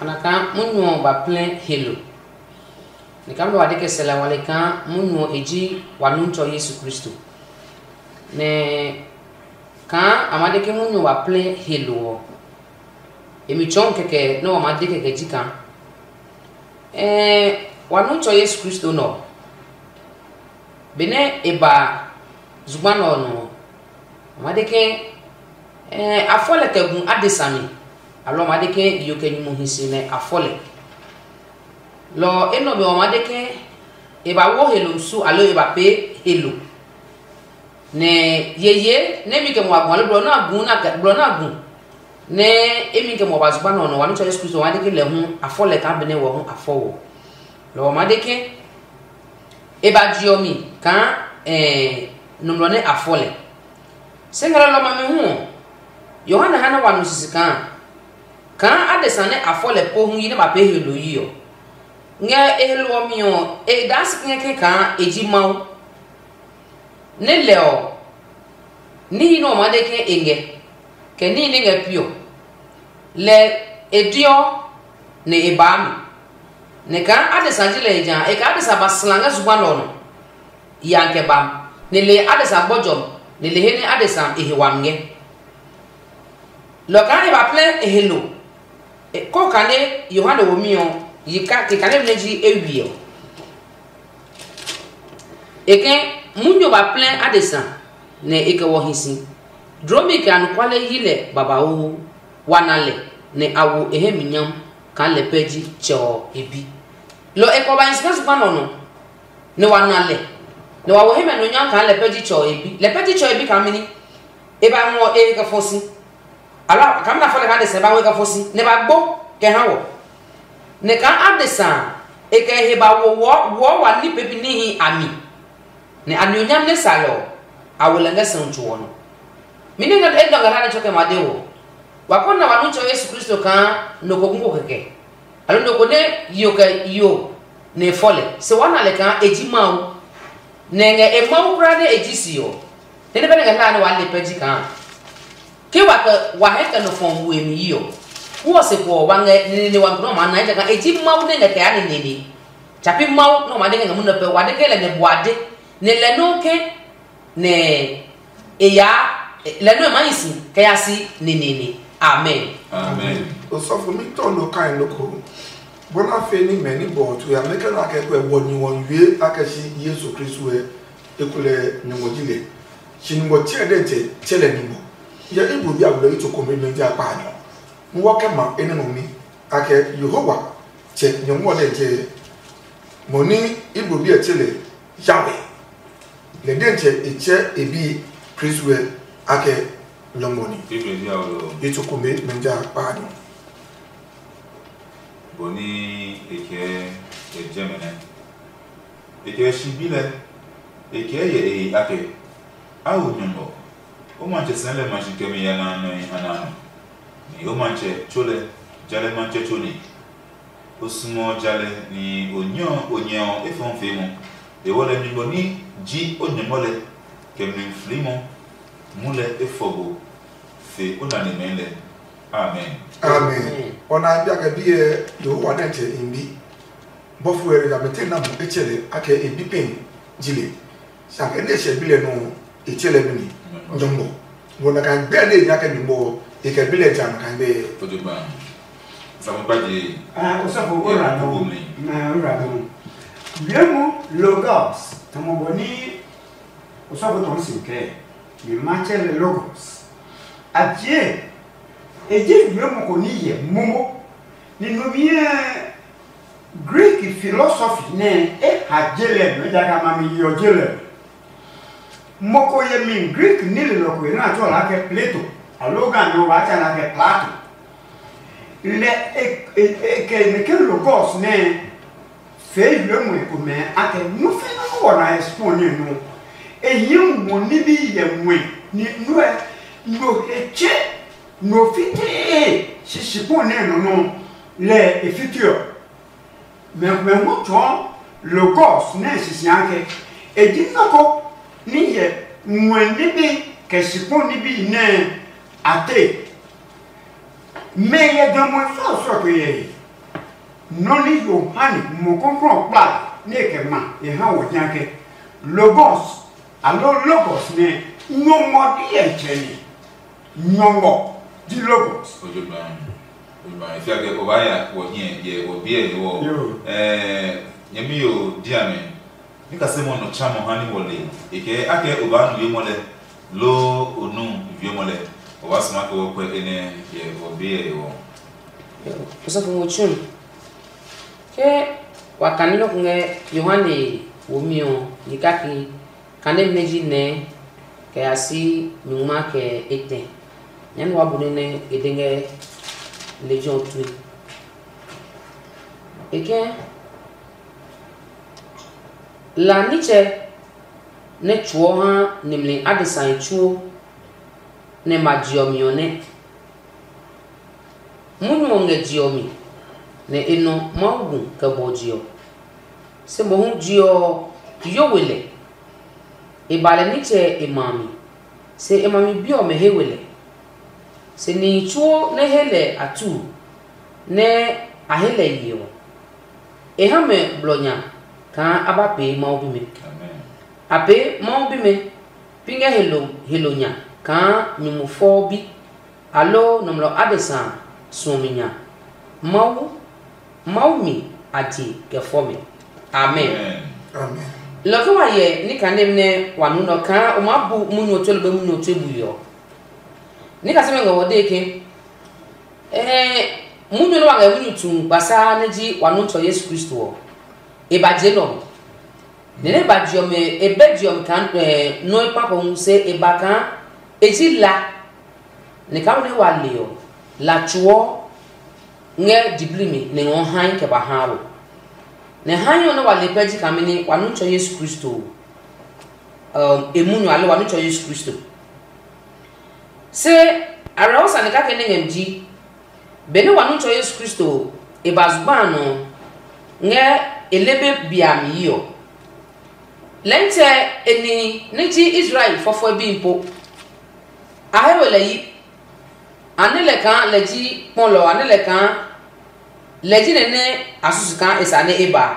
ana kaa munyu ɔ ba plɛ helo. Nɛ kaa nɔ wa de kɛ sɛ la wale kaa munyu ɔ e ji wa nuntsɔ Yesu Kristo. Nɛ kaa a ma de ke munyu ɔ ba plɛ helo ɔ, e mi tsɔɔ kɛkɛ nɛ wa ma de kɛkɛ ji kaa ɛɛ wa nuntsɔ Yesu Kristo nɔ. Benɛ e ba zugba nɛ ɔ nɔ ɔ, a ma de ke ɛɛ a fɔ lɛ kɛ gu adesa mi. Alɔ a ma de ke yo kɛ nyumu hi si nɛ a fɔ lɛ. Lɔ ɔ enɛ ɔ mi ɔ ma de ke e ba wo helo su alo e ba pee helo. Nɛ yeye nɛ mi kɛ mo a gu alo blɔ nɛ a gu nɛ a kɛ blɔ nɛ a gu nɛ emi kɛ mo ba zugba nɛ ɔ nɔ wa nitsɔ Yesu Kristo wa de ke lɛ hu a fɔ lɛ kaa benɛ wɔ hu a fɔ wɔ. Lɔ ɔ ma de ke e ba jiɔ mi kaa ɛɛ nɔmlɔ nɛ a fɔ lɛ. Se ngɛ lɔlɔ ma mi hu ɔ, Yohane ha nɛ wa nu sisi kaa kaa adesa nɛ a fɔ lɛ po hu yi nɛ ba pee helo yi ɔ. Ngɛ e helo ɔ mi ɔ, e daa si kɛkɛ kaa e ji Mawu. Nɛ lɛ ɔ, níhi nɛ ɔ maa de ke e ngɛ, kɛ níhi nɛ ngɛ pi ɔ, lɛ e diɔ nɛ e baa mi. Nɛ kaa adesa ji lɛ eja a, e kaa adesa ba sla ngɛ zugba nɛ ɔ nɔ, ya kɛ ba, nɛ le adesa gbɔjɔ, nɛ le he nɛ adesa e he wami ngɛ. Lɔ kaa e ba plɛ e he lo, kɔ kane Yohane womi ɔ yi ka kikane nɛ ji e wiɛ ɔ. E ke munyu ba plɛ adesa nɛ e kɛ wɔ hi si. Dromi kɛ anɔkuale yi lɛ babauu, wa na lɛ, nɛ a wo e hɛ mi nyam kaa lɛ pɛ ji Tsɛ ɔ e bi. Lɔ e kɛ ba hi si ngɛ zugba nɛ ɔ nɔ, nɛ wa na lɛ, nɛ wa wo hɛmɛ no nyam kaa lɛ pɛ ji Tsɛ ɔ e bi. Lɛ pɛ ji Tsɛ ɔ e bi kaa mɛni? E ba ngɔ e he kɛ fɔ si. Alɔ kaa mina fɔ lɛ kaa adesa e ba ngɔ e kɛ fɔ si, nɛ ba gbo kɛ ha wɔ. Nɛ kaa adesa e kɛ he ba wo wɔ wɔ wa ní pepi níhi a mi. Nɛ a ni onyam nɛ sa lɛ ɔ, a wo lɛ ngɛ sɛu tso ɔ nɔ. Mɛni ngɛ e dɔ ngɛ hlaa nɛ tsɔkɛ ma de wɔ? Wa kɔ na wa Nitsɛ Yesu Kristo kaa nɔ ko gu ko kɛkɛ, aloo nɔ ko nɛ yo kɛ yo nɛ e fɔ lɛ. Se wa na lɛ kaa e ji Mawu, nɛ e ngɛ e Mawu kulaa nɛ e ji si ɔ. Nɛ nɛ bɛ nɛ ngɛ hlaa nɛ waa le pɛ ji kaa ke wa kɛ wa hɛ kɛ nɔ fɔ we mi yi ɔ, pu ɔ se kpo ɔ wa ngɛ neneene wa nɔ maa na ejakaa e ji Mawu nɛ ngɛ kɛ ya neneene. Tsapi Mawu nɛ ɔ ma de kɛ ngɛ munɔ pɛ wa de ke lɛ nɛ bua de, nɛ lɛ nɔuu ke nɛ e yaa lɛ nɔuu e maa hi si kɛ ya si neneene. Amen. Amen. Osɔfo mi tɔ no kai noko. Bona fe ni mɛ ni bɔ tu ya me ke na ke kwe wɔ ni wɔn wie ake shi Yesu Kristo e ekulɛ nyɔngɔ ji le. Shi nyɔngɔ tsɛ de te tsɛ lɛ nyɔngɔ. Ya ibu bi a wule ito ko me me ja pa nyɔ. Mu wɔ ke ma ene no mi ake Yehowa tsɛ nyɔngɔ de te mo ni ibu bi a tsɛ le Yahweh. Lɛ dɛntsɛ e tsɛ e bi Kristo ɛ akɛ nyɔngmɔ ni. Bíblia ɔ lɔ. Etsɔko me mɛ ja kpaa nɔ. Bɔ ní e kɛɛ e jɛ mɛ nɛ. E kɛɛ shi bi lɛ, e kɛɛ yɛ e he akɛ, a wo nyɔngmɔ. O matsɛ sɛɛ lɛ ma shi kɛmi ya na nɔe a na nɔ. Ni o matsɛ tso lɛ, ja lɛ matsɛ tso ni. O suɔ jalɛ ni o nyɛ ɔ efɔɔ fee mɔ. E wɔ lɛ nyugbɔ ní ji o nyɔmɔ lɛ kɛ mli flimɔ mu lɛ efɔgo fe o nane mɛɛ lɛ. Amen. Amen. Ɔ na bi akɛ bi yɛ Yehowa nɛ tsɛ in bi. Bɔfo yɛ ya mɛtɛ na mo etsɛ lɛ akɛ e bi pɛn ji lɛ. Sa kɛ ne hyɛ bi lɛ nɔ e tsɛ lɛ mini nyɔmɔ. Wɔ na kan gbɛ ne nya kɛ nyɔmɔ e kɛ bi lɛ ja na kan gbɛ. Fojogba. Samu pa je. Ah, osɔfo ora no. Na ora no. Wiemu logos tamo bɔ ni osɔfo tɔn si kɛ. Mi ma tsɛ lɛ logos. Atie. E je wiemu ko ni yɛ momo. Ni no miɛ Greek philosophy nɛ e ha je lɛ nɔ ejakaa ma mi yeɔ je lɛ. Mɔ ko yemi Greek nilelɔ ko nɛ a tsɔɔ lɛ akɛ Plato, aloo ga nɔ waa tsa lɛ akɛ Plato. Lɛ e e e kɛ nɛ ke logos nɛ fee yue mue komɛ akɛ nu fi nu wɔ na expo nɛ nu. E yi mɔ ni bi yɛ mue ni nu ɛ no he tse no fitee sisi kpɔ nɛ nɔ nɔ lɛ e fiti ɔ. Mɛ mɛ hu tsɔɔ Logos nɛ sisia ke e ji nɔ́ ko ní hyɛ ngmɛ níbi kɛ sikpɔ níbi nɛ a te. Mɛ yɛ gamɔ sɔsɔ ko yɛ he. Nɔ́ ní Yohane mɔ kɔklɔ kpla nɛ e kɛ ma e ha wɔ nya ke Logos, aloo Logos nɛ nyɔngmɔ diɛtsɛ ni. Nyɔngmɔ ji Logos. Ojogban, ojogban. Fia ke o ba ya wɔ hiɛ yɛ wɔ biɛ ni wɔ. Yo. Eh, nyɛmi yo dia mɛ. Ni ka se mo no cha mo ha ni wɔ le. E ke a ke o ba nu ye mo le. Lo o nu ye mo le. O ba sma ke wɔ kwe ene yɛ wɔ biɛ ni wɔ. Osɔfo mo tsu. Ke wa kane nɔ ko ngɛ Yohane womi ɔ, ni kake kane nɛ ji nɛ kɛ ya si nyungma kɛ etɛ. Nyɛɛ nɛ wa bu nɛ nɛ e de ngɛ lejɛ ɔ tue. E kɛ la nitsɛ nɛ tsuɔ ha nimli adesai tsuo nɛ ma je ɔ mi ɔ nɛ. Munyu ɔ ngɛ je ɔ mi, nɛ e nɔ Mawu gu kɛ bɔ je ɔ. Se mohu je ɔ yo we lɛ. E ba lɛ nitsɛ e ma a mi, se e ma mi bi ɔmɛ he we lɛ. Se nihi tsuo nɛ he lɛ a tu, nɛ a he lɛ ye ɔ, e ha mɛ blɔ nya kaa a ba pee Mawu bimɛ. A pee Mawu bimɛ pi ngɛ helo helo nya kaa nyumu fɔɔ bi, aloo nɔmlɔ adesa suɔmi nya. Mawu, Mawu mi a je kɛ fɔ mɛ. Amen. Lɔ ke wa yɛ ni kane nɛ wa nu nɔ kaa o maa bu munyu ɔ tue lobe munyu ɔ tue bui ɔ. Ni kasɛ mɛ ngɛ wɔ dee ke ɛɛ munyu nɛ wa ngɛ munyu tu kpasa nɛ ji wa nu tsɔ Yesu Kristo ɔ, e ba je nɔ. Nɛ nɛ ba je ɔ mɛ e bɛ je ɔ mi kaa ɛɛ nɔ e kpa ko hu se e ba kaa e ji la. Nɛ kaa nɛ wa le ɔ, la tsuɔ ngɛ diblii mi nɛ ngɔ hae kɛ ba haa wɔ. Nɛ hae ɔ nɛ wa le pɛ ji kaa mɛni wa nu tsɔ Yesu Kristo ɔ, e munyu aloo wa nu tsɔ Yesu Kristo. Se awerɛho sane kake nɛ ngɛ mi ji, benɛ wa nu tsɔ Yesu Kristo e ba zugba a nɔ ngɛ e lebe bia mi yi ɔ, lɛntsɛ e nihi nɛ ji Israel fɔfɔɛ bihi po. A he we lɛ yi. A nɛ lɛ kaa lɛ ji kpɔlɔ, a nɛ lɛ kaa lɛ ji nɛ nɛ a susu kaa e sa nɛ e ba a.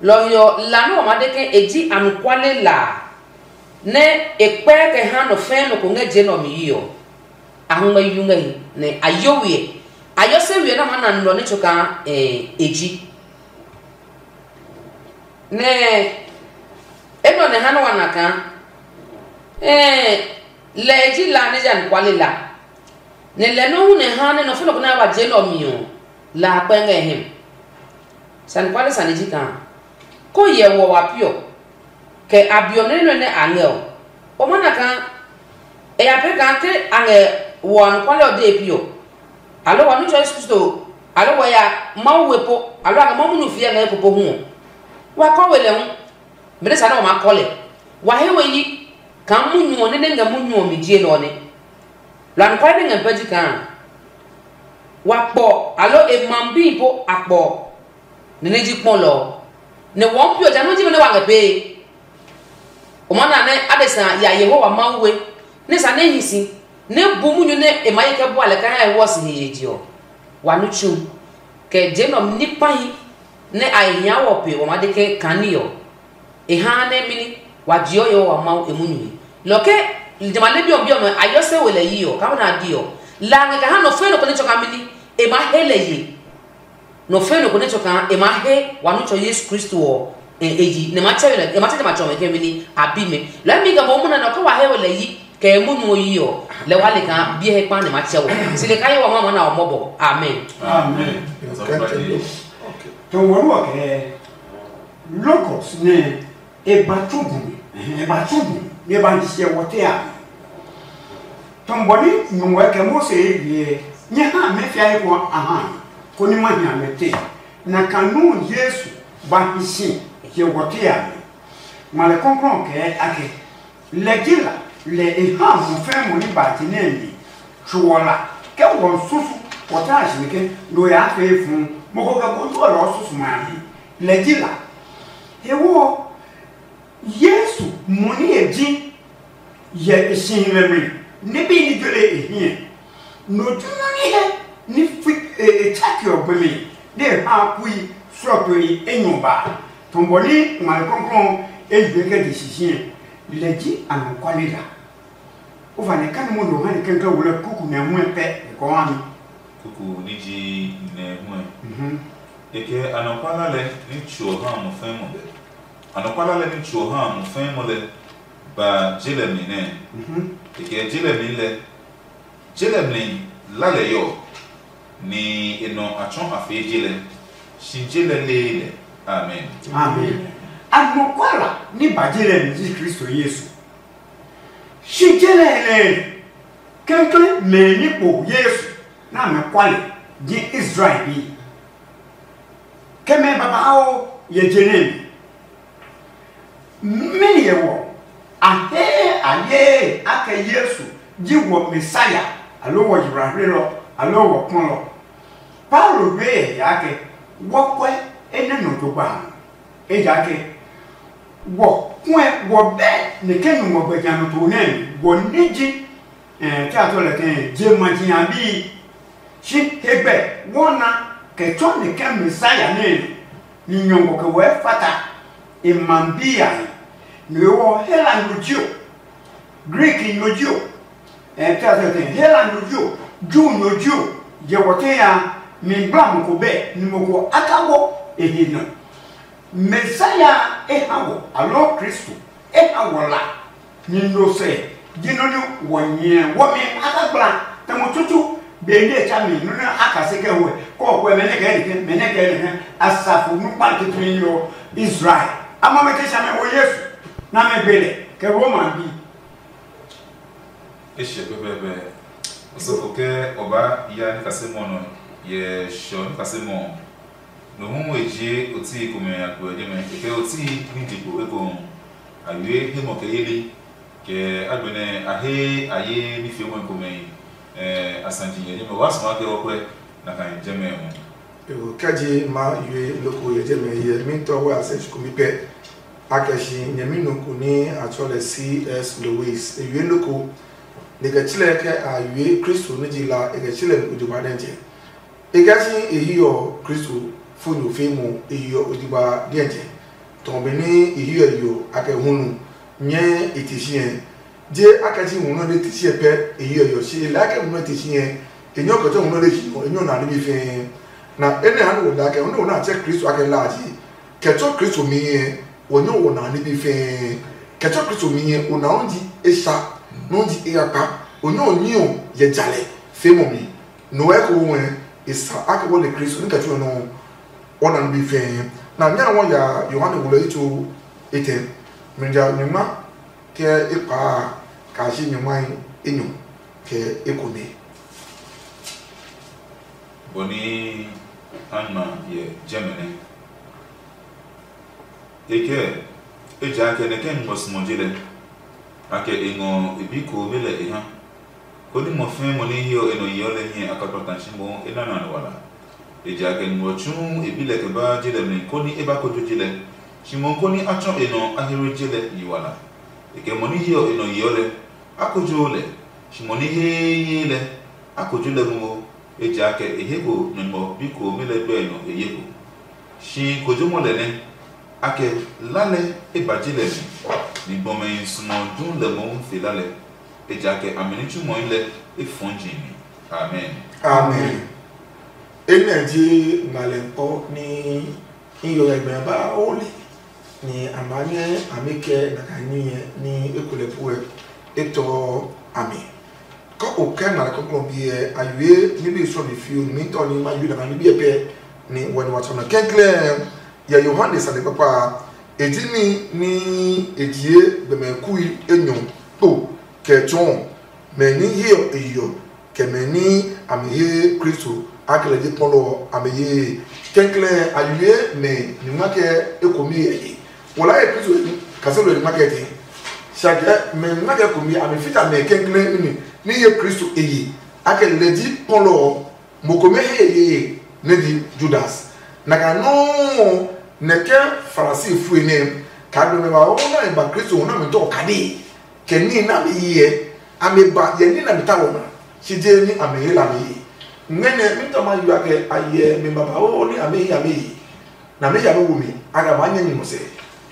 Lɔ ɔ he ɔ, la nɛ wa maa de ke e ji anɔkuale la a, nɛ e kpɛɛ kɛ ha nɔ fɛɛ nɔ ko ngɛ je nɛ ɔ mi yi ɔ, a ngmɛ yu ngɛ he, nɛ a yo we ɛ. A yo se we ɛ nɛ a maa na nulɔ nɛ tso kaa e ji. Nɛ enɛ ɔ nɛ ha nɛ wa na kaa lɛ e ji la nɛ ji anɔkuale la, nɛ lɛ nɔuu nɛ ha nɛ nɔ fo nɔ ko nɛ a ba je nɛ ɔ mi ɔ, la a kpɛ ngɛ hɛ mi. Sane kuale sane ji kaa ko hyɛ wɔ wa piɔ, kɛ a be ɔ nɛ nɔ́ nɛ a ngɛ ɔ, o maa na kaa e ya pee kaa ke a ngɛ wɔ anɔkuale ɔ dee piɔ, aloo wa nitsɔ Yesu Kristo, aloo wa ya Mawu we po, aloo a ngɛ Mawu munyu fiɛ ngɛ eko po hu ɔ, wa kɔ we lɛ hu. Benɛ sa nɛ wa maa kɔ lɛ, wa he we yi kaa munyu ɔ nɛ nɛ ngɛ munyu ɔ mi ji enɛ ɔ nɛ. Lɔ anɔkuale nɛ ngɛ pɛ ji kaa wa kpɔ, aloo e ma bi po a kpɔ, nɛ nɛ ji kpɔlɔ ɔ, nɛ wɔɔ pi ɔ ja nɔ́ ji mɛ nɛ wa ngɛ pee. O maa na nɛ adesa ya Yehowa Mawu we, nɛ sa nɛ hi si, nɛ bu munyu nɛ e maa ye kɛ bua lɛ kɛ ha e hwɔ si he ye je ɔ, wa nu tsu, kɛ je nɛ ɔ ní kpahi nɛ a he hia wɔ pe wa maa de ke kaa ní ɔ, e haa nɛ mini wa jeɔ Yehowa Mawu e munyu he. Lɔ ke jamɛ a le bi ɔ bi ɔmɛ a yɔ se we lɛ yi ɔ, kaa nɛ a di ɔ, la a ngɛ kɛ ha nɔ fɛɛ nɔ ko nɛ tsɔ kaa mini e maa he lɛ ye. Nɔ fɛɛ nɔ ko nɛ tsɔ kaa e maa he wa nu tsɔ Yesu Kristo ɔ e yi, nɛ ma tsɛ lɛ e ma tsɛ ma tsɔ mɛ ke mini a bi mɛ. Lɔ mi ga mo mu na nɔ ke wa he we lɛ yi kɛ e munyu ɔ yi ɔ, lɛ wa le kaa biɛ he kpa nɛ ma tsɛ wɔ. Si le ka ye wa ma ma na ɔ mɔbɔ. Amen. Amen. Tɔngɔ nɔ kɛ Logos nɛ e ba tsu bu mi, e ba tsu bu mi, nɛ e ba hi siɛ wɔ te a. Tɔngɔ ni nyuwɛ kɛ Mose ye nyɛ ha mɛ fia he ko a ha, koni ma hia mɛ te. Na kanu Yesu ba hi si ye wɔ te a. Ngmalɛ kɔklɔ kɛɛ ake, lɛ ji la lɛ e ha mo fɛ mo ni ba ti nɛ mi tsuɔ la kɛ wɔ susu wɔ ta si ke lo ya fe fun mo ko kɛ ko to lɔ susu ma mi. Lɛ ji la. He ɔ, Yesu mɔ ní e ji yɛ e si himɛ mi nɛ bí ní jɔlɛ e hiɛ. No ju nɔ ní he ní fi e tsaki ɔ gbe mi nɛ e ha kui srɔtoi enyɔ ba. Tɔn bɔ ní ngmali kɔnkɔn e yue kɛ je sisiɛ. Lɛ ji anɔkuale la. O va nɛ kani mo lo ha ni kɛnkɛn wo lɛ kuku nɛ hu ɛ pɛ e kɔ ha mi. Kuku ní ji nɛ hu ɛ. Mhm. E kɛ anɔkwa lalɛ ní tsuɔ ha mo fɛn mo lɛ. Anɔkwa lalɛ ní tsuɔ ha mo fɛn mo lɛ ba je lɛ mi nɛ. Mhm. E kɛ je lɛ mi lɛ. Je lɛ mi la lɛ yɔ, ni e nɔ a tsɔ a fee je lɛ. Si je lɛ lee lɛ. Amen. Amen. Anɔkwa la ní ba je lɛ mi ji Kristo Yesu. Si je lɛ lɛ kɛnkɛn mɛ ní kpo Yesu na mɛ kwale ji Israel bi. Kɛ mɛ babauu yɛ je nɛ mi. Mɛni yɛ wɔ? A he a ye akɛ Yesu ji wɔ Mesia, aloo wɔ yiblahilɔ, aloo wɔ kpɔlɔ. Paulo we yɛ akɛ wɔ kɔɛ enɛ nɔ jogba a. Ejaakɛ wɔ kuɛ wɔ bɛ nɛ kɛ nu ngɔ gbɛ nya nɔ to nɛ wɔ ne ji. Tɛ a tɔ lɛ kɛ je ma ji a bi. Shi hegbɛ wɔ na kɛ tsɔ nɛ kɛ Mesia nɛ ni nyɔngɔ kɛ wɔ fata e ma bi a. Nɔ ewɔ Hela no jio, Greek no jio, tɛ a tɔ lɛ kɛ Hela no jio, Ju no jio, yɛ wɔ tɛ ya mi gbla mo ko bɛ ni mo ko aka wɔ e he nɔ. Mesia e ha wɔ, aloo Kristo e ha wɔ la. Ni no sɛ ji nɔ nɛ wɔ nyɛ wɔmi a ka gbla tɛ mo tutu be nɛ tsa mi nɔ nɛ a ka se kɛ wɛ kɔ kɔ mɛ nɛ kɛ nɛ mɛ nɛ kɛ nɛ asafo nu kpa tutu ni yo Israel. Ama mɛ te sha mɛ wo Yesu na mɛ gbe lɛ kɛ Roma bi. E hyɛ pɛpɛɛpɛ. Osɔfo kɛ ɔba ya nikasemɔ nɔ yɛ shɔ nikasemɔ. No hu e jie otii komɛ a kpɛ jɛmɛ, e kɛ otii ní je kpo ekohu. A wie hemɔ kɛ yeli, kɛ agbɛnɛ a he a ye ní fiemɔe komɛ. A sa ji yɛ jɛmɛ waa suɔ akɛ ɔ kwɛ na ka jɛmɛ ɔ. Ewo kɛji ma yue loko yɛ jɛmɛ yɛ mi tɔ wɛ a sɛ shi komi pɛ. A kɛ shi nyɛmi nɔ ko ní a tsɔ lɛ C S Lewis. E yue loko, ni kɛ tsilɛ kɛ a yue Kristo ní ji la, e kɛ tsilɛ nɔ ko jo ba nɛ jɛ. E kɛ si e hiɔ Kristo fo nyo fe mo e hiɔ ojigba diɛjɛ. Tɔ be ní e hiɔ yo a kɛ hunu nyɛ e te si ɛ. Je a kɛ si hunu de te si ɛ pɛ e hiɔ yo si e lɛ a kɛ hunu te si ɛ. E nyɔ kɛ tɔ hunu de si ɔ e nyɔ na ni bi fɛɛ. Na enɛ ha ni wo da kɛ hunu na tsɛ Kristo a kɛ la ji. Kɛ tɔ Kristo mi ɛ, wɔ nyɔ wɔ na ni bi fɛɛ. Kɛ tɔ Kristo mi ɛ, o na o ji e sa, no ji e ya kpa. O nyɔ o nyi ɔ yɛ jalɛ fe mo mi. Noe ko wɛ e sa ake wɔ le Kristo ni ka tsuɛ nɔ. Ɔ na bi fɛɛ na nya wɔ ya Yohane wulɔ itso etɛ. Mrija nyuma kɛ ekpa ka shi nyuma enyo kɛ ekome. Bɔ ni a na yɛ jɛmɛ nɛ. E kɛɛ, ejaakɛ nɛ kɛ ngmɔ simɔ je lɛ, a kɛ e ngɔ e bi ko be lɛ e ha. Konɛ mɔ fɛɛ mɔ nɛ heɔ e nɔ yeɔ lɛ hiɛ a kpakpa ta tsi mohu e nana nɔ wala. Ejaakɛ nungmɔ tsuuu e bi lɛ kɛ ba je lɛ mli konɛ e ba kojo je lɛ, tsi mohu konɛ a tsɔ e nɔ a he we je lɛ yi wala. E kɛ mɔ nɛ heɔ e nɔ yeɔ lɛ, a kojoo lɛ, tsi mɔ nɛ heee lɛ, a kojo lɛ momo, ejaakɛ e he ko nyɔngmɔ bi komɛ lɛ gbɛe nɔ e ye ko. Si kojomɔ lɛ nɛ, a kɛ la lɛ e ba ji lɛ mi, ni gbɔmɛhi suɔ du lɛ mohu fe la lɛ, ejaakɛ a mi ní tsumɔe lɛ e fɔɔ ji mi. Amen. Amen. Enɛ ji ngmalɛ kpɔ ní iyɔyɛgbɛ ba o li, ni a maa nyɛ a mi kɛ na ka ní nyɛ ní ekulɛ puɛ etɔ a mi. Kɔ o kɛ ngmalɛ kɔklɔ biɛ a yue ní bi sɔ mi fiu ní mi tɔ ní ma yue na ka ní biɛ pɛ ní wɔ ní wa tsɔ na kɛnklɛɛ. Yɛ Yohane sane kpakpa a, e ji ní ní e jie gbɛmɛ kui enyɔ kpo kɛ tsɔɔ mɛ ní hiɔ e yeɔ kɛ mɛ ní a mi he Kristo a kɛ lɛ ji kpɔlɔ ɔ a mi yee. Kɛnklɛɛ a yue mɛ nyuma kɛ ekomi yɛ he. Wɔ la ye Kristo kaselo nyuma kɛ tɛ. Sakɛ mɛ nyuma kɛ komi a mi fita mɛ kɛnklɛɛ ní ní ye Kristo e ye a kɛ lɛ ji kpɔlɔ ɔ. Mo komɛ he yeye nɛ ji Judas. Na ka nɔuu Nɛ ke Farisi fue nɛ kaa gbe mɛ ba ɔ nɛ ba Kristo hu nɛ mi tɔ kade, kɛ ní nɛ a mi hyɛ, a mi ba yɛ ní nɛ mi ta wɔ na, shi je ní a mi hla mi yi. Ngmɛnɛ mi tɔ ma yua kɛ a yɛ mi babauu ní a mi hla mi yi, nɛ a mi ya mi wo mi, a kɛ maa nyɛ nyumu sɛ.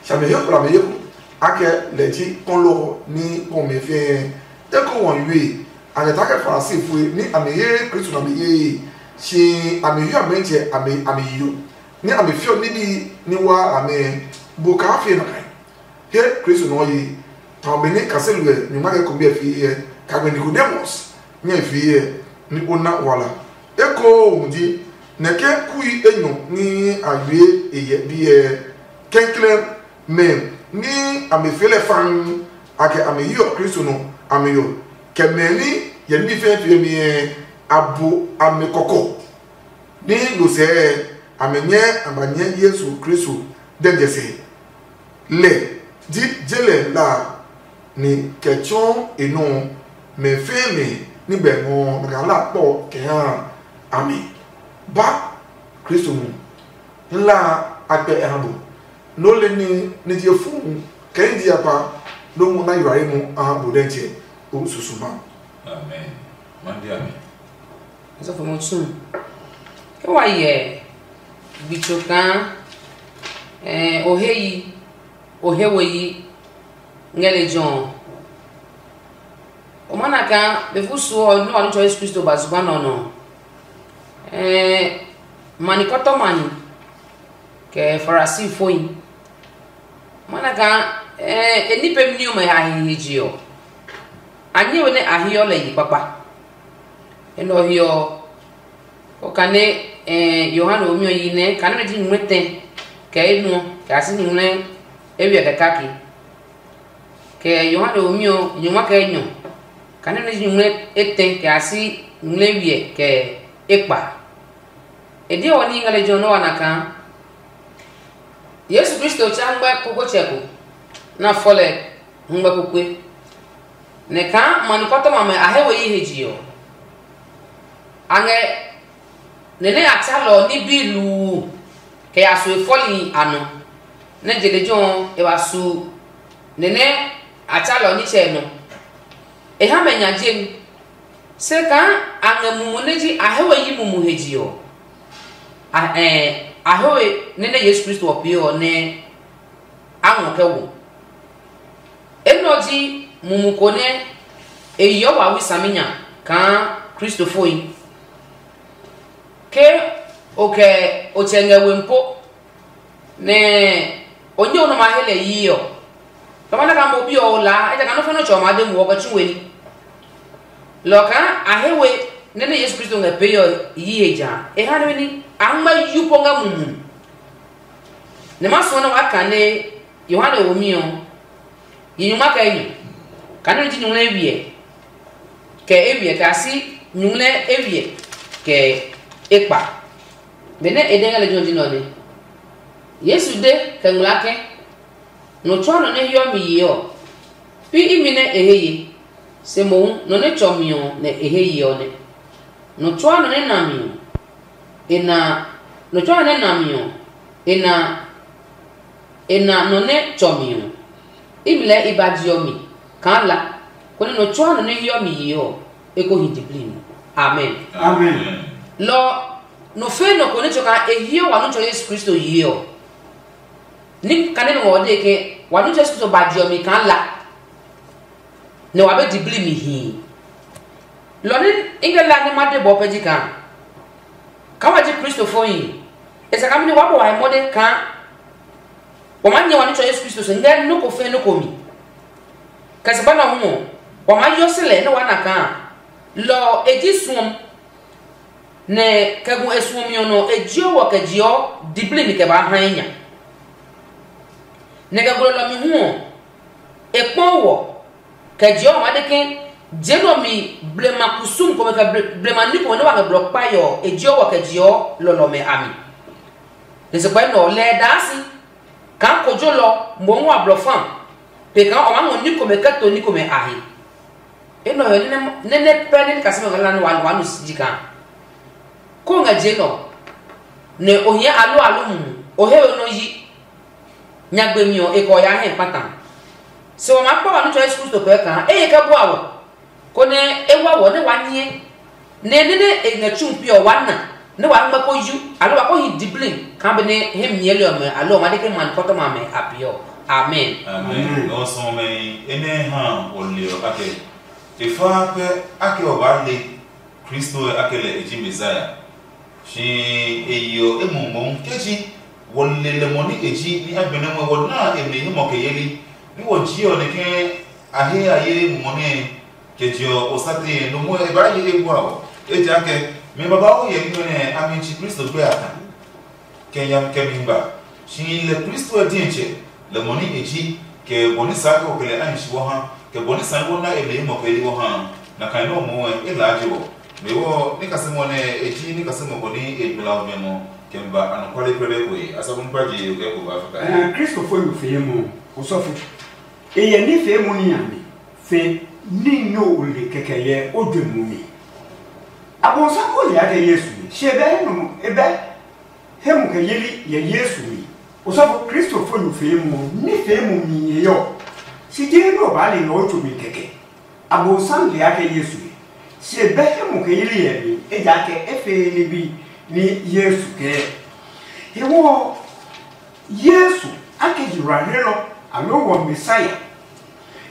Shi a mi he kula mi he ku, a kɛ lɛ ji kɔlɔ ɔ ní kpɔ mɛ fɛɛ. Eko wɔn yue, a kɛ ta kɛ Farisi fue ní a mi he Kristo nɛ a mi ye, shi a mi hyɛ a mɛntsɛ a mi a mi yo, ní a mi fiɔ níbi ní wa amɛ. Bu kaa fie na kai. He Kristo nɔ yi, tɔ be ní kaseli ɛ nyuma kɛ kombi ɛ fie ɛ, kagbe Nikodemus nyɛ fie ɛ, ní o na wala. Eko ji nɛ ke kui enyɔ ní a yue e yɛ biɛ kɛnklɛn mɛ ní a mi fee lɛ faan, a kɛ a mi yi ɔ Kristo nɔ a mi yo, kɛ mɛ ní yɛ níbi fɛɛ fie mi ɛ, a bu a mi kɔkɔ. Ní no sɛɛ, a mi nyɛ a ba nyɛ Yesu Kristo dɛ jɛ se. Lɛ ji je lɛ la ni kɛ tsɔɔ e nɔ mɛ fɛɛ mɛ ní bɛ ngɔ nɔ kɛ hlaa kpɔ kɛ ha a mi. Ba Kristo mu, hla a kpɛ e ha bo. Nɔ le ní ní je fu kɛ ní ji akpa, nɔ mu na yua mu a ha bo dɛ jɛ o susu ma. Amen. Mande amen. Asɔfo mo tsu. Ke wa yɛ gbitso kaa eh, o he yi, o he we yi ngɛ lejɛ ɔ, o ma na kaa be fu suɔ ɔ nɛ wa nitsɔ Yesu Kristo ba zugba nɛ ɔ nɔ. Eh, mani kɔtɔmani kɛ Farisi foyi. Ma na kaa eh, e ní pemi ní ɔmɛ ha hihi je ɔ, a nyɛ we nɛ a hiɔ lɛ yi kpakpa. Enɛ ɔ he ɔ, kɔ kane eh, Yohane womi ɔ yi nɛ kane nɛ ji nyumu etɛ kɛ enuɔ kɛ a si nyumu ewiɛ kɛ kake. Kɛ Yohane womi ɔ nyumu kɛ enyɔ kane nɛ ji nyumu etɛ kɛ a si nyumu ewiɛ kɛ ekpa. E diɔ wɔ ní ngɛ lejɛ ɔ nɛ wa na kaa Yesu Kristo tsa ngmɛ kokotsɛ ko nɛ a fɔ lɛ ngmɛ kpokpe. Nɛ kaa ma nukɔtɔma amɛ a he we yi he je ɔ, a ngɛ nɛ nɛ a tsa lɛ ɔ ní biluu kɛ ya su e fɔli a nɔ, nɛ je lejɛ ɔ e wa su nɛ nɛ a tsa lɛ ɔ nitsɛ nɔ. E ha mɛ nya jemi. Se kaa a ngɛ mumu nɛ ji a he we yi mumu he je ɔ, a, ɛɛ, a he we nɛ nɛ Yesu Kristo ɔ pee ɔ nɛ a ngɔ kɛ wo. Enɛ ɔ ji mumu ko nɛ e yeɔ wawɛ saminya kaa Kristofohi. Ke o kɛ o tsɛ ngɛ wehi po, nɛ o nyɛ o nɔ ma he lɛ yi ɔ, lɔ ma na kaa mo bi ɔ o laa, ejakaa nɔ́ fɛ́ nɔ́ tsɛ ɔ maa de muɔ kɛ tsu we ní. Lɔ kaa a he we nɛ nɛ Yesu Kristo ngɛ pee ɔ yi he ja. E ha nɛ ní a ngmɛ yu po ngɛ mumu. Nɛ ma suɔ nɛ waa kane Yohane womi ɔ, yi nyuma kɛ enyɔ, kane nɛ ji nyumu nɛ wiɛ kɛ ewiɛ kɛ a si nyumu nɛ ewiɛ kɛ ekpa. Benɛ e de ngɛ lejɛ ɔ ji nɛ ɔ nɛ. Yesu de kɛ ngmlaa ke, nɔ tsuaa nɔ nɛ hiɔ mi yee ɔ, pi imi nɛ e he ye, se mohu nɔ nɛ tsɔ mi ɔ nɛ e he ye ɔ nɛ. Nɔ tsuaa nɔ nɛ na mi ɔ, e na nɔ tsuaa nɔ nɛ na mi ɔ, e na e na nɔ nɛ tsɔ mi ɔ. Imi lɛɛ i ba je ɔ mi kaa la, konɛ nɔ tsuaa nɔ nɛ hiɔ mi yee ɔ, e ko hi diblii mi. Amen. Amen. Lɔ nɔ fɛɛ nɔ ko nɛ tsɔ kaa e hiɔ wa nɔ tsɔ Yesu Kristo yee ɔ, ní kane nɔ ɔ de ke wa nɔ tsɔ Yesu Kristo ba je ɔ mi kaa la, nɛ wa be diblii mi hii. Lɔ ní i ngɛ la nɛ ma de bɔ pɛ ji kaa, kaa wa ji Kristofohi, e sa kaa mɛni wa bɔ wa he mɔde kaa wa maa nyɛ wa ní tsɔ Yesu Kristo se ngɛ nɔ́ ko fɛɛ nɔ́ ko mi. Kɛ se ba nɔ hu ɔ, wa maa yɔ si lɛ nɛ wa na kaa lɔ ɔ e ji suɔm, nɛ kɛ gu e suɔmi ɔ nɔ e jiɔ wɔ kɛ jiɔ diblii mi kɛ baa ha enya. Nɛ kɛ gulɔ lɔ mi hu ɔ, e kpɔ wɔ kɛ jiɔ ma de ke je nɔ mi blema kusum komɛ kɛ ble- blema ní komɛ nɛ wa ngɛ blɔ kpae ɔ e jiɔ wɔ kɛ jiɔ lɔlɔmɛ a mi. Nɛ se kpɛ nɔ lɛ daa si kaa kojolɔ mohu wa blɔ fa pe kaa o maa ngɔ ní komɛ kɛ to ní komɛ a he. Enɛ ɔ nɛ nɛ pɛ nɛ ni kasɛmɛ ngɛ la nɛ wa wa nu si ji kaa ko ngɛ je nɔ nɛ o hiɛ alo alo mumu. O he we nɔ yi, nyagbe mi ɔ, e kɛ ɔ yaa hɛ kpata. Se wa maa kpa wa nitsɔ Yesu Kristo kpɛɛ kaa e ye kɛ bua wɔ, konɛ e wa wɔ nɛ wa nyɛ nɛ nɛ nɛ e ngɛ tsu pi ɔ wa na, nɛ wa ngmɛ ko yu, aloo wa ko hi diblin kaa benɛ he mi nyɛɛli ɔmɛ aloo wa de ke ma nukɔtɔma amɛ a peeɔ. Amen. Amen. Lɔ sɔmɔ mɛ enɛ ha wɔ le ɔ akɛ, e fa pɛ akɛ ɔ baa le Kristo ɛ akɛ lɛ e ji Mesia. Shi e yeɔ emumu mohu ke ji wɔ le lɛ mɔ nɛ e ji, nɛ a gbɛnɛ ngɔ wɔ na e mi himɔ kɛ yeli, nɛ wɔ ji ɔ nɛ ke a he a ye mumɔ nɛ kɛ je ɔ o sa tee nɔ mo e baa ye e bua ɔ. Ejakaa mɛ babauu hyɛ ní nɛ a mi tsi Kristo gbɛ a ta. Kɛ nyami kɛ mi ba. Shi lɛ Kristo ɛ diɛtsɛ, lɛ mɔ nɛ e ji, kɛ bɔ nɛ saa kɛ o kɛ lɛ a hi shi wɔ ha, kɛ bɔ nɛ saa nɛ wɔ na e mɛ himɔ kɛ yi wɔ ha. Na kan nɛ o mɔ ɛ e laa je wɔ. Mɛ wɔ ní kasɛmɔ nɛ e ji ní kasɛmɔ ko ní e gbla ɔ mɛ mɔ kɛ mi ba anɔkuale kpɛdɛ ko ye asɔfo ní kpa je o kɛ ko ba fika. Ɛɛ, Kristofo yo fee mɔ osɔfo. E yɛ ní fee mɔ ní a mi fe ní nyɛ o le kɛkɛ yɛ o dwe mɔ mi. Abɔnsa ko le akɛ Yesu mi, shi e bɛ he nɔ e bɛ he mu kɛ yeli yɛ Yesu mi. Osɔfo Kristofo yo fee mɔ ní fee mɔ mi yɛ yɔ. Si ji he nɔ baa le yɔ o tso mi kɛkɛ. Abonsam le akɛ Yesu he, se bɛ hɛ mo kɛ yeli yɛ mi, ejaakɛ e fee ni bi ni Yesu kɛɛ. Hewɔ ɔ, Yesu akɛ yiwlahlelɔ, aloo wɔ Mesia.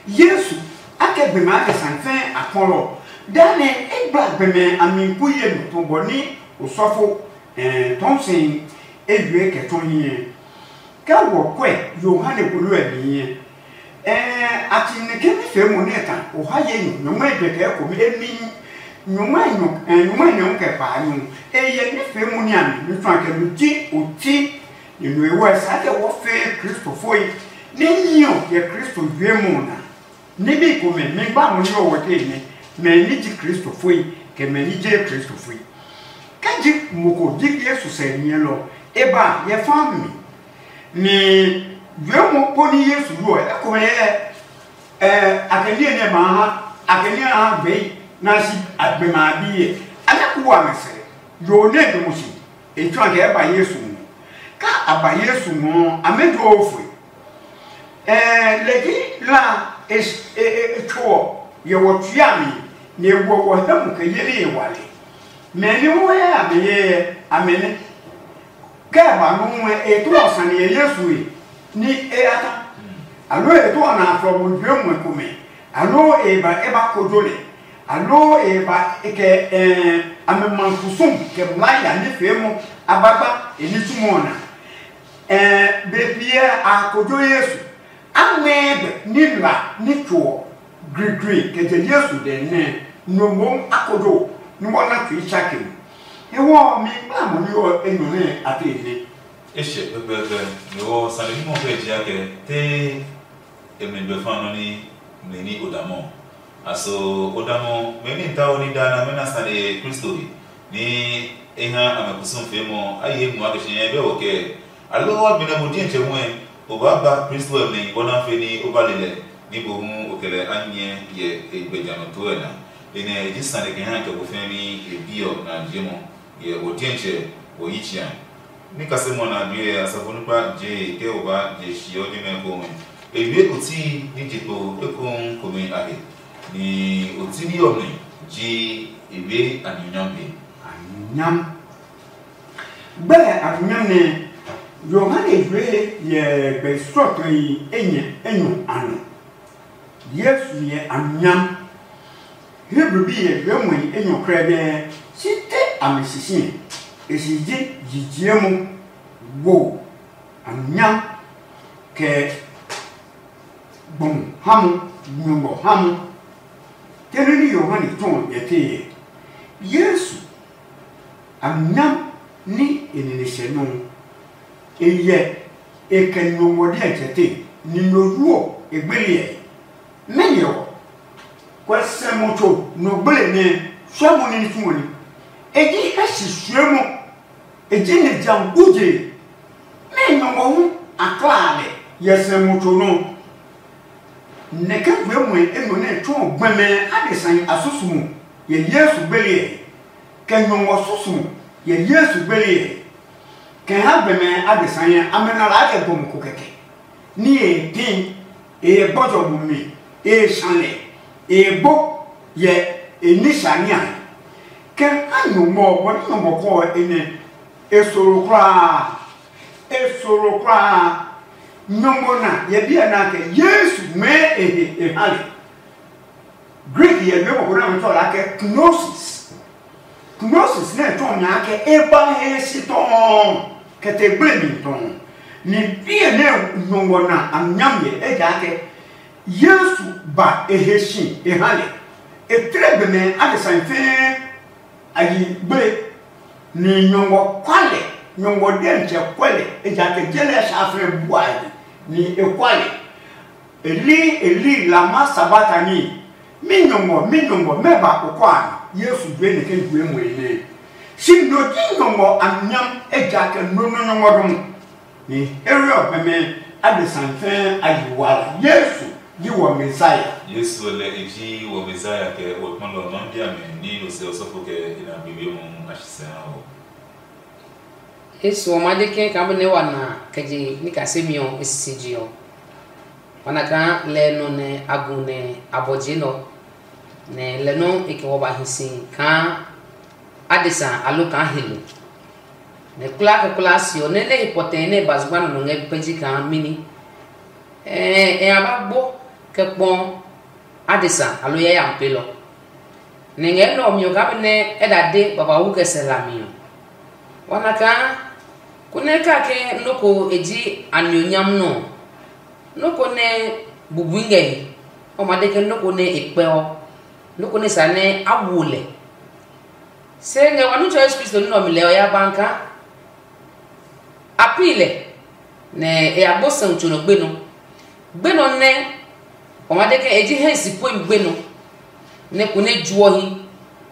Yesu akɛ gbɛmɛ akɛ sane fɛɛ a kpɔlɔ. Danɛ e gba gbɛmɛ a mi ku ye nɔ tɔ bɔ ní osɔfo tɔɔ si eyue kɛ tɔ hiɛ. Kɛ wɔ kuɛ Yohane kpolo ɛ nihi ɛ, a ti nɛ ke ní fee mo nɛ ta o ha ye nyɔ nyɔngma e kɛ kome emi nyɔngma nyɔ nyɔngma nyɔ kɛ pa nyɔ. E yɛ ní fee mo ní a mi mi tsuan kɛ mi ji oti ni nue wɔ sa kɛ wɔ fee Kristofoi ní nyiɔ yɛ Kristo yue mo na. Níbi komɛ mi gba mo ní ɔwɔ te nɛ mɛ ní ji Kristofoi kɛ mɛ ní je Kristofoi. Kɛ ji mo ko ji Yesu sɛ nyɛlɔ e ba yɛ fa mi. Ni juɛmɔ po ní Yesu yu ɔ, ekomɛ yɛ ɛ a kɛ niɛ nɛ ma ha a kɛ niɛ ha gbɛi na si a gbɛ ma a bi yɛ. A nyɛ ku wa mɛ sɛ yo ne de mo si e tsɔ kɛ ba Yesu ngɔ. Ka a ba Yesu ngɔ a mɛ jo o foi. Ɛɛ lɛ ji la e e e tso ɔ yɛ wɔ tsuami ni e wɔ wɔ hɛ mu kɛ yeli e wale. Mɛ ni wɔ yɛ a mɛ yɛ a mɛ ne. Kɛ e ba nɔuu ɛ, e tuɔ sane yɛ Yesu he, ní e ya ta. Aloo e tuɔ na aflɔ mo jue muɛ komɛ, aloo e ba e ba kojo lɛ, aloo e ba e kɛ ɛɛ amɛ ma kusum kɛ mlaa ya ní fee mɔ a ba gba e ní tsumɔ ɔ na. Ɛɛ be piɛ a kojo Yesu. A ngmɛɛ gbɛ ní la ní tso ɔ grigri kɛ je Yesu dɛ nɛ no mohu a kojo ní wɔ na tsui tsake mi. Hewɔ ɔ, mi kpla mo ní ɔ enyɔ nɛ a te nɛ. E hyɛ pɛpɛɛpɛ, mi wɔ sane bimɔ kɛ je akɛ te e mi gbɛ fa nɔ ní mli ní o damɔ. Aso o damɔ mɛ ní ta o ní da na mɛ na sane Kristo he ní e ha a mɛ kusum fee mɔ a ye mu a kɛ shi nyɛ bɛ wɔ kɛ. Aloo a gbenɛ mo diɛtsɛ huɛ, o baa ba Kristo ɔ mi bɔ nɛ a fe ní o ba le lɛ ní mohu o kɛ lɛ a nyɛ yɛ e gbɛ ja nɔ too ɛ na. Enɛ e ji sane kɛ ha kɛ ko fɛɛ ní e bi ɔ na je mɔ yɛ o diɛtsɛ o yi tsia. Ní kasemɔ na due ɛ asafo nukpa je kɛ o ba je shi ɔ jɛmɛ komɛ. E wie oti ní je kpo ekohu komɛ a he, ní oti ní ɔmɛ ji e wie a nina be. Anyam. Gbɛ a nyam nɛ Yohane yue yɛ gbɛ srɔtɔi enyɛ enyɔ a nɔ. Yesu yɛ a nyam. Hebru bi yɛ yue mɔi enyɔ krɛdɛɛ, si te a mi sisi. E si ji yijiemo, wo, a nyam, kɛ gbɔmɔ ha mo, nyɔngɔ ha mo. Tɛnɛ ní Yohane tɔɔ yɛ tee yɛ. Yesu a nyam ní e nine hyɛ nɔ. E yɛ e kɛ nyɔngɔ diɛ jɛ te, ni no yu ɔ e gbele ɛ. Mɛni ɔ? Kɔɛ sɛ mo tso no gbele nɛ suɛ mo ní tsuɔ ni. E ji hɛ si suɛ mo. E ji ni jam guje. Mɛ nyɔngɔ hu a kla lɛ yɛ sɛ mo tso nɔ. Nɛkɛ we muɛ enɔ nɛ tsuɔ gbɛmɛ adesã a susumu yɛ Yesu gbele ɛ, kɛ nyɔngɔ susumu yɛ Yesu gbele ɛ. Kɛ ha gbɛmɛ adesa nyɛ, amɛ na la kɛ gbɔmɔ ko kɛkɛ. Ní e pin, e gbɔjɔ bumi, e sã lɛ, e gbo yɛ e ní sania. Kɛ ha nyɔmɔ bɔ ní nyɔmɔ kɔ e nɛ e soro kulaa. E soro kulaa. Nyɔmɔ na yɛ biɛ na kɛ Yesu mɛɛ e he e ha lɛ. Greek yɛ nɔ́ ko nɛ ɔmɛ tsɔ la kɛ kenosis. Kenosis nɛ tsɔ nya kɛ e ba he si tɔɔ kɛ te gble mi tɔɔ. Ni biɛ nɛ nyɔngɔ na a nyam yɛ ejaakɛ Yesu ba e he si e ha lɛ. E tle gbɛmɛ adesa fɛɛ a yi gble. Ni nyɔngɔ kwa lɛ, nyɔngɔ diɛntsɛ kwɛ lɛ, ejaakɛ je lɛ saflɛ bua he, ni e kwa lɛ. Eli, Eli, lama sabatani? Mi nyɔngɔ, mi nyɔngɔ, mɛ ba o kɔ a? Yesu jue ni ke jue mo nɛ. Si no ji nyɔngɔ a nyam, ejaakɛ no no nyɔngɔ dɔmɔ. Ni here ɔ pɛmɛ adesã fɛɛ a yi wala. Yesu ji wɔ Mesia. Yesu lɛ e ji wɔ Mesia kɛ wɔ kpɔlɔ nɔ dia mɛ ni lo se ɔsɔfo kɛ ina biwe mu a shi sɛ ha o. Yesu ɔ ma de kɛ ka bene wa na kɛ je ni ka se mi ɔ e sisi ji ɔ. Wa na kaa lɛ nɔ nɛ a gu nɛ a bɔ je nɔ. Nɛ lɛ nɔ e kɛ wɔ ba hi si kaa adesa alo kaa helo. Nɛ kulaa kɛ kulaa si ɔ nɛ nɛ he pɔtɛɛ nɛ e ba zugba nɔ nɔ ngɛ pɛ ji kaa mini. Ɛɛ ɛ a ba gbo kɛ kpɔ adesa alo yayami pelɔ. Nɛ ngɛ nɛ ɔ mi ɔ kaa be nɛ ɛ da de babawu kɛ sɛ hlami ɔ. Wa na kaa konɛ kake nɔ́ ko e ji anionyam nɔ ɔ, nɔ́ ko nɛ bubui ngɛ he, ɔ ma de ke nɔ́ ko nɛ e kpɛ ɔ, nɔ́ ko nɛ sa nɛ a wo lɛ. Se ngɛ wa Nitsɛ Yesu Kristo nɔ́ ɔ mi lɛɛ ɔ ya ba kaa a pi lɛ, nɛ e ya gbo sɛu tso nɔ gbe nɔ. Gbe nɔ nɛ o ma de ke e ji hɛ si pue mi gbe nɔ, nɛ ko nɛ juɔ hi,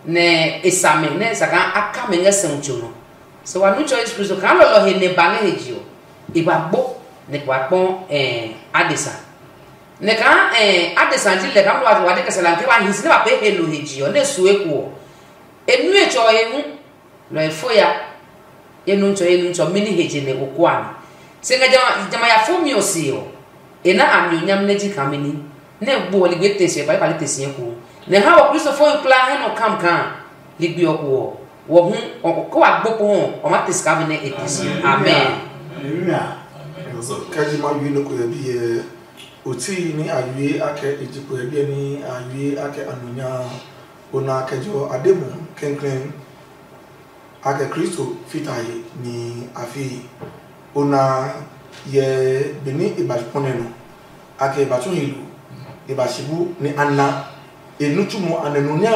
nɛ e sa mɛ nɛ e sa kaa a ka mɛ ngɛ sɛu tso nɔ. Se wa Nitsɛ Yesu Kristo kaa lɔlɔ he nɛ ba ngɛ he je ɔ, e ba gbo nɛ kpa kpɔ adesa. Nɛ kaa adesa ji lɛ kaa wa de kɛ sɛ la ke wa hi si nɛ ba pee he no he je ɔ nɛ su eko ɔ, e nue tsɔ e hu. Nɔ e fo ya ye nu tsɔ ye nu tsɔ mini he je nɛ o kua mi. Se ngɛ jama ya fo mi ɔ se ɔ, e na a mi onyam nɛ ji kaa mini nɛ gbo ɔ ligbe te si ɛ pali pali te si ɛ ko. Nɛ ha wɔ kristofohi kulaa hɛ nɔ kam kaa ligbi ɔ ko ɔ, wɔ hu ko wa gbo ko hɔ ɔ ma te sika mi nɛ e te si. Amen. Kɛji ma yue nɔ ko yɛ bi yɛ oti ni a yue akɛ ejikpo yɛ biɛ ni a yue akɛ anunya o na kɛjɔ ade mu kɛnkrɛn. Akɛ Kristo fita he ni a fie. O na yɛ be ni e ba kpɔnɛ nɔ, akɛ e ba tsu he lo, e ba si bu ni a na e nitsumɔ a nɛ nu nya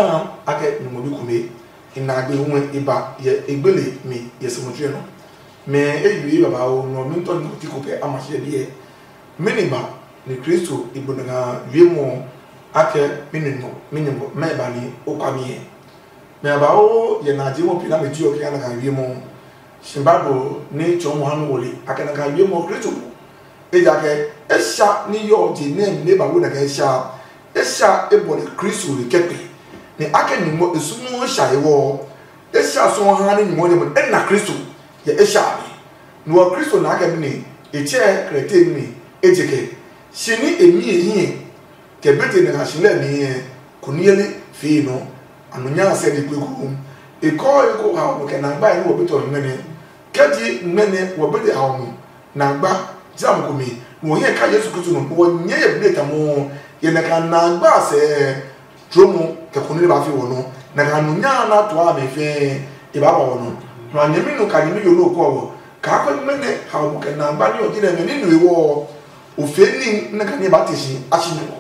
akɛ nyumu bi kume. E na gbe hu e ba yɛ e gbele mi yɛ se mutsui nɔ. Mɛ e yue babauu nɔ mi tɔ ni ko ti ko kɛ a ma hyɛ biɛ. Mɛni ba ni Kristo e gbo na nga wiemɔ akɛ mi nɔ mi nyumu mɛ ba ni o kwa mi yɛ? Mɛ a ba o yɛ na je mɔ pi na mɛ ji ɔ kɛ na ka wie mɔ. Shi Bible ni tsɔɔ mo ha nɔ wɔli a kɛ na ka wie mɔ Kristo ko. Ejaakɛ e sha ni yɔ je nɛ ne ba wo na kɛ sha e sha e bɔ ne Kristo le kɛ pe. Ne a kɛ nyumo e sumu sha e wɔ e sha sɔ ha ni nyumo ne mo e na Kristo yɛ e sha mi. No ɔ Kristo na kɛ mi ne e tsɛ krɛte mi ne e je kɛ. Shi ni e mi e hiɛ kɛ bete nɛ a si lɛ mi ɛ kuniele fii nɔ. Anu nya sɛ ni kpeku e kɔ eko ha o kɛ na gba ni wɔ betɔ mi mɛnɛ. Kɛji mɛnɛ wɔ bete ha o mi na gba jam ko mi wɔ hiɛ ka Yesu Kristo nɔ wɔ nyɛ yɛ bile tamɔ yɛ na ka na gba sɛ tromo kɛ kunile ba fi wɔ nɔ na ka nu nya na to a mi fɛ e ba ba wɔ nɔ. Nɔ nyɛmi nu ka nyɛmi yo lo kɔ wɔ ka ko mɛnɛ ha o kɛ na gba ni ɔ ji nɛ mɛ ni nu e wɔ o fe ni na ka ni ba te si a si nɔ.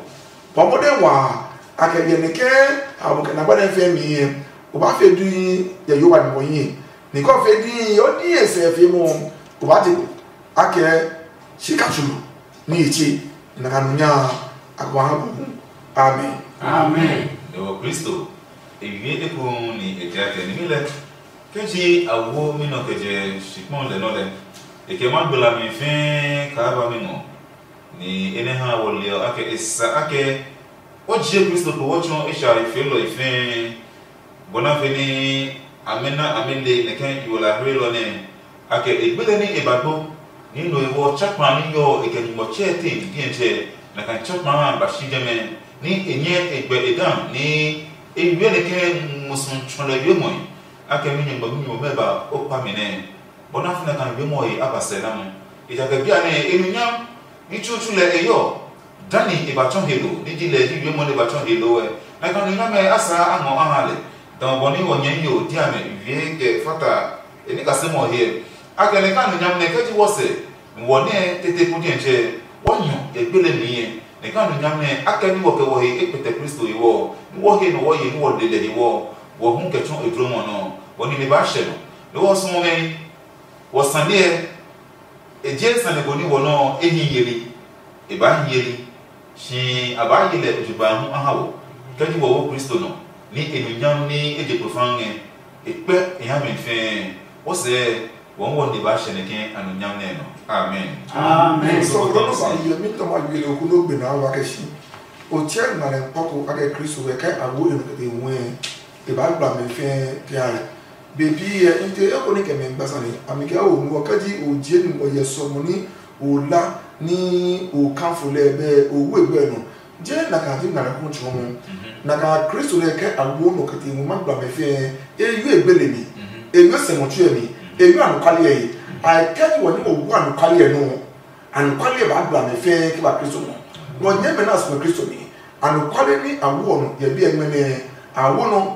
Bɔ mɔdɛn waa a kɛ hyɛ nɛ ke a bu kɛ na gbanɛ fɛɛ mi ɛ o ba fe dui yɛ yo wa ni mɔ yi ni kɔ fe dui o ni e sɛ fe mɔ o ba te a kɛ si ka tsulu ni e tse na ka nu nya a ko ha bu. Amen. Amen. Ewɔ Kristo ewie ekohu ni e tia kɛ ni mi lɛ ke ji a wo mi nɔ kɛ jɛ shikpɔn lɛ nɔ lɛ e kɛ ma gbla mi fɛɛ kaa ba mi ngɔ. Ni enɛ ha wɔ le ɔ akɛ e sa akɛ o je Kristo po wɔ tsɔ e sha e fee lɔ e fɛɛ bɔ na fe ni amɛ na amɛ le nɛkɛ yo la hlelɔ nɛ A kɛ e gbele ní e ba gbo, ní no e wɔ tsa kpa ní yɔ e kɛ nyugbɔ tsɛ tee didiɛtsɛ, nɛ ka tsa kpa ha ba shi jɛmɛ, ní e nyɛ e gbɛ e dan ní e wiɛ nɛ ke musu tsɔ lɛ wiemɔe. A kɛ mi nyugbɔ mi nyugbɔ mɛ ba o kpa mi nɛ, bɔ na fina ka wiemɔ he a ba sɛ na mo. Ejakaa bia nɛ e nu nyam ní tsutsu lɛ e yɔ. Dani e ba tsɔ he lo, ní ji lɛ ji wiemɔ nɛ e ba tsɔ he lo ɛ, nɛ ka nu nyamɛ a saa a ngɔ a ha lɛ. Dã bɔ ní wɔ nyɛ yo dia mɛ wie kɛ fata e ní kasɛmɔ he ɛ. A kɛ nɛ ka nu nyam nɛ kɛ ji wɔ sɛ, wɔ nɛ tete pu diɛtsɛ, wɔ nyɔ e gbele mi yɛ. Nɛ ka nu nyam nɛ a kɛ ní wɔ kɛ wɔ he e kpɛtɛ Kristo he wɔ, ní wɔ he nɔ wɔ ye ní wɔ le lɛ he wɔ, wɔ hu kɛ tsɔ e dlomɔ nɔ, wɔ nine ba hyɛ nɔ. Nɛ wɔ suɔ mɛ, wɔ sane ɛ, e je sane ko ní wɔ nɔ e hi yeli. E baa hi yeli, shi a baa ye lɛ jugba hu a ha wɔ, kɛ ji wɔ wo Kristo nɔ, ní e nu nyam ní e je kpo faa ngɛ. E kpɛ e ha mi fɛɛ. Wɔ sɛɛ, wɔ hu wɔ nine ba hyɛ nɛ ke a nu nyam nɛ nɔ. Amen. Amen. So ko no ba ye mi tɔ ma yele ko no gbe na wa ke shi. O che na le pako a ke Kristo we kai a wo e no ke te we. E ba gba me fɛɛ pia. Bebi ɛ n te eko ni kɛ mɛ gba sane, a mi kɛ o nu ɔ kɛ ji o je nu ɔ yɛ sɔmɔ ni o la ni o kanfo lɛ bɛ o wu egbe nɔ. Je na ka ji na ko tso mo. Na ka Kristo lɛ kɛ a wo no kɛ te mo ma gba me fɛɛ. E yu egbe le mi. E yu sɛ mo tue mi. E yu anu kali ɛ. A kɛ ji wɔ ni o wu anu kali ɛ no. Anɔkuale ba gba mɛ fɛɛ kɛ ba Kristo nɔ. Nɔ nyɛ mɛ na sumɛ Kristo mi. Anɔkuale ni a wo nɔ yɛ biɛ ngmɛ nɛ a wo nɔ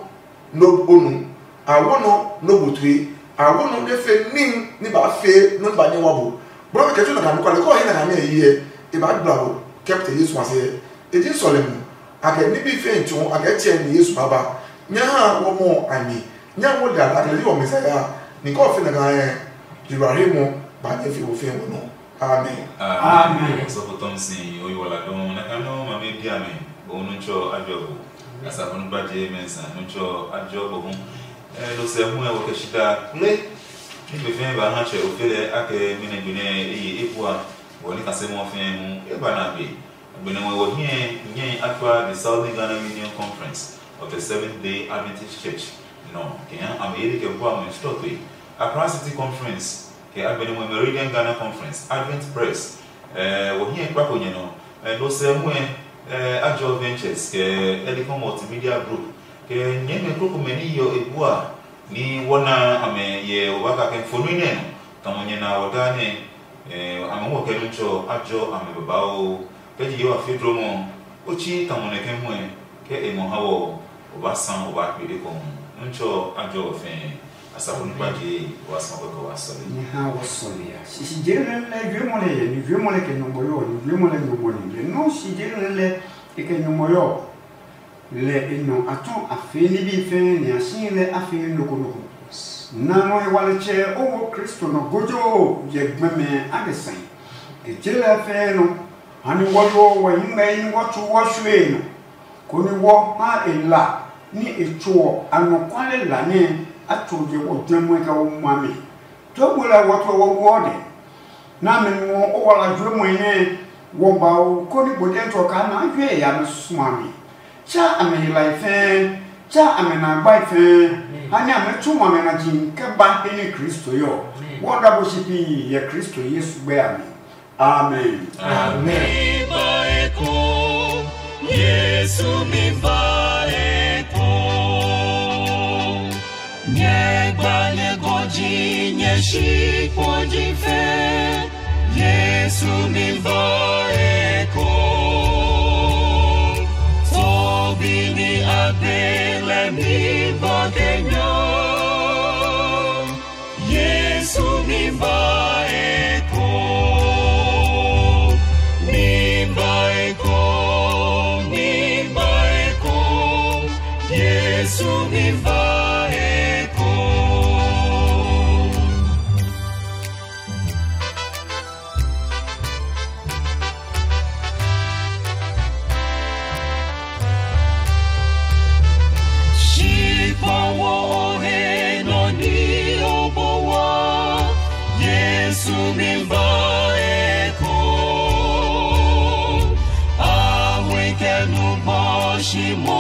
no bonu, a wo nɔ no butue, a wo nɔ ne fe nin ni ba fe no ba nyɛ wa bo. Bro kɛ tso na ka anɔkuale ko he na ka nɛ yi e ba gba bo kɛpte Yesu ase. E ji sɔlemi. A kɛ nibi fe tso a kɛ tsɛ ni Yesu baba. Nya ha wo mo a ni. Nya wo da a kɛ yi wo Messiah. Ni ko fe na ka e. Ibrahim ba nyɛ fi wo fe wo no. Amen. Amen. Sɔfo Thompson, oyi wala dɔn na ka nɔ ma me bia me. Bo nu cho ajo bo. Asa bo nu ba je men sa nu cho ajo bo hu. Eh, lo se hu e wo ke shita kule. Ni be fe ba ha che o fele ake mine gbine e yi e bua. Wo ni ka se mo fe hu e ba na be. Gbine wo wo hie nye akwa the Southern Ghana Union Conference of the Seventh Day Adventist Church. No, ke ya am yeli ke bua mo stop e. Accra City Conference. Kɛ agbɛnɛ moe Meridian Ghana Conference, Advent Press, eh, wɔ hiɛ kpa ko nyɛ nɔ, eh, no sɛ muɛ, eh, Ajo Ventures, kɛ Elicom Multimedia Group, kɛ nyɛmɛ krokomɛ ni yɔ e bua, ni wɔ na amɛ yɛ wɔ ba ka kɛ fo nui nɛ nɔ, tamɔ nyɛ na wɔ daa nɛ, eh, amɛ wɔ kɛ nu tsɔ, Ajo amɛ babauu. Kɛ ji Yehowa fe dlomɔ, o tsi tamɔ nɛ kɛ muɛ, kɛ e ngɔ ha wɔ, o ba sa o ba kpe de kɔ hu. Ntsɔ Ajo ɔ fɛɛ, asafo ni kpa je, o ba sa kɔkɔ wa sɔle. Ni ha wɔ sɔle ya. Sisi je lɛ lɛ jue mɔ lɛ yɛ, ni jue mɔ lɛ kɛ nyɔmɔ yɔ, ni jue mɔ lɛ nyɔmɔ ni. Lɛ nɔ si je lɛ lɛ e kɛ nyɔmɔ yɔ. Lɛ e nɔ a tɔ a fee ní bí fɛɛ nɛ a si lɛ a fee noko noko. Na nɔ e wa lɛ tsɛ o wo Kristo nɔ gojo yɛ gbɛmɛ a kɛ sɛn. Kɛ je lɛ fɛɛ nɔ. Hani wɔ yo wɔ nyingmɛ yi ni wɔ tsu wɔ shue nɔ, koni wɔ ha e la ni e tso ɔ anɔkuale la nɛ a tso je wɔ jɛmɛ kɛ wɔ ma mi. To gbo lɛ wɔ to wɔ wɔ de. Na me nuɔ o wala juɛ mɔi nɛ wɔ ba o koni gbo dɛ tɔ ka na juɛ ya me sua mi. Tsa a me hilae fɛɛ, tsa a me na gbae fɛɛ, ha ni a me tsu ma me na ji kɛ ba he ni Kristo yɔ. Wɔ da bo shi pi yɛ Kristo Yesu gbɛ a mi. Amen. Amen. Mi ba eko, Yesu mi ba eko. Nyɛ gba nyɛ gɔji nyɛ shi kpoji fe. Yesu mi ba eko. Tobi ni agbe le mi ba kenya. Yesu mi ba eko, mi ba eko, mi ba eko, Yesu mi ba eko. Shikpɔwɔ he nɔ ni o bɔ wa, Yesu mi ba eko. Awe kɛ nu bɔ shi mo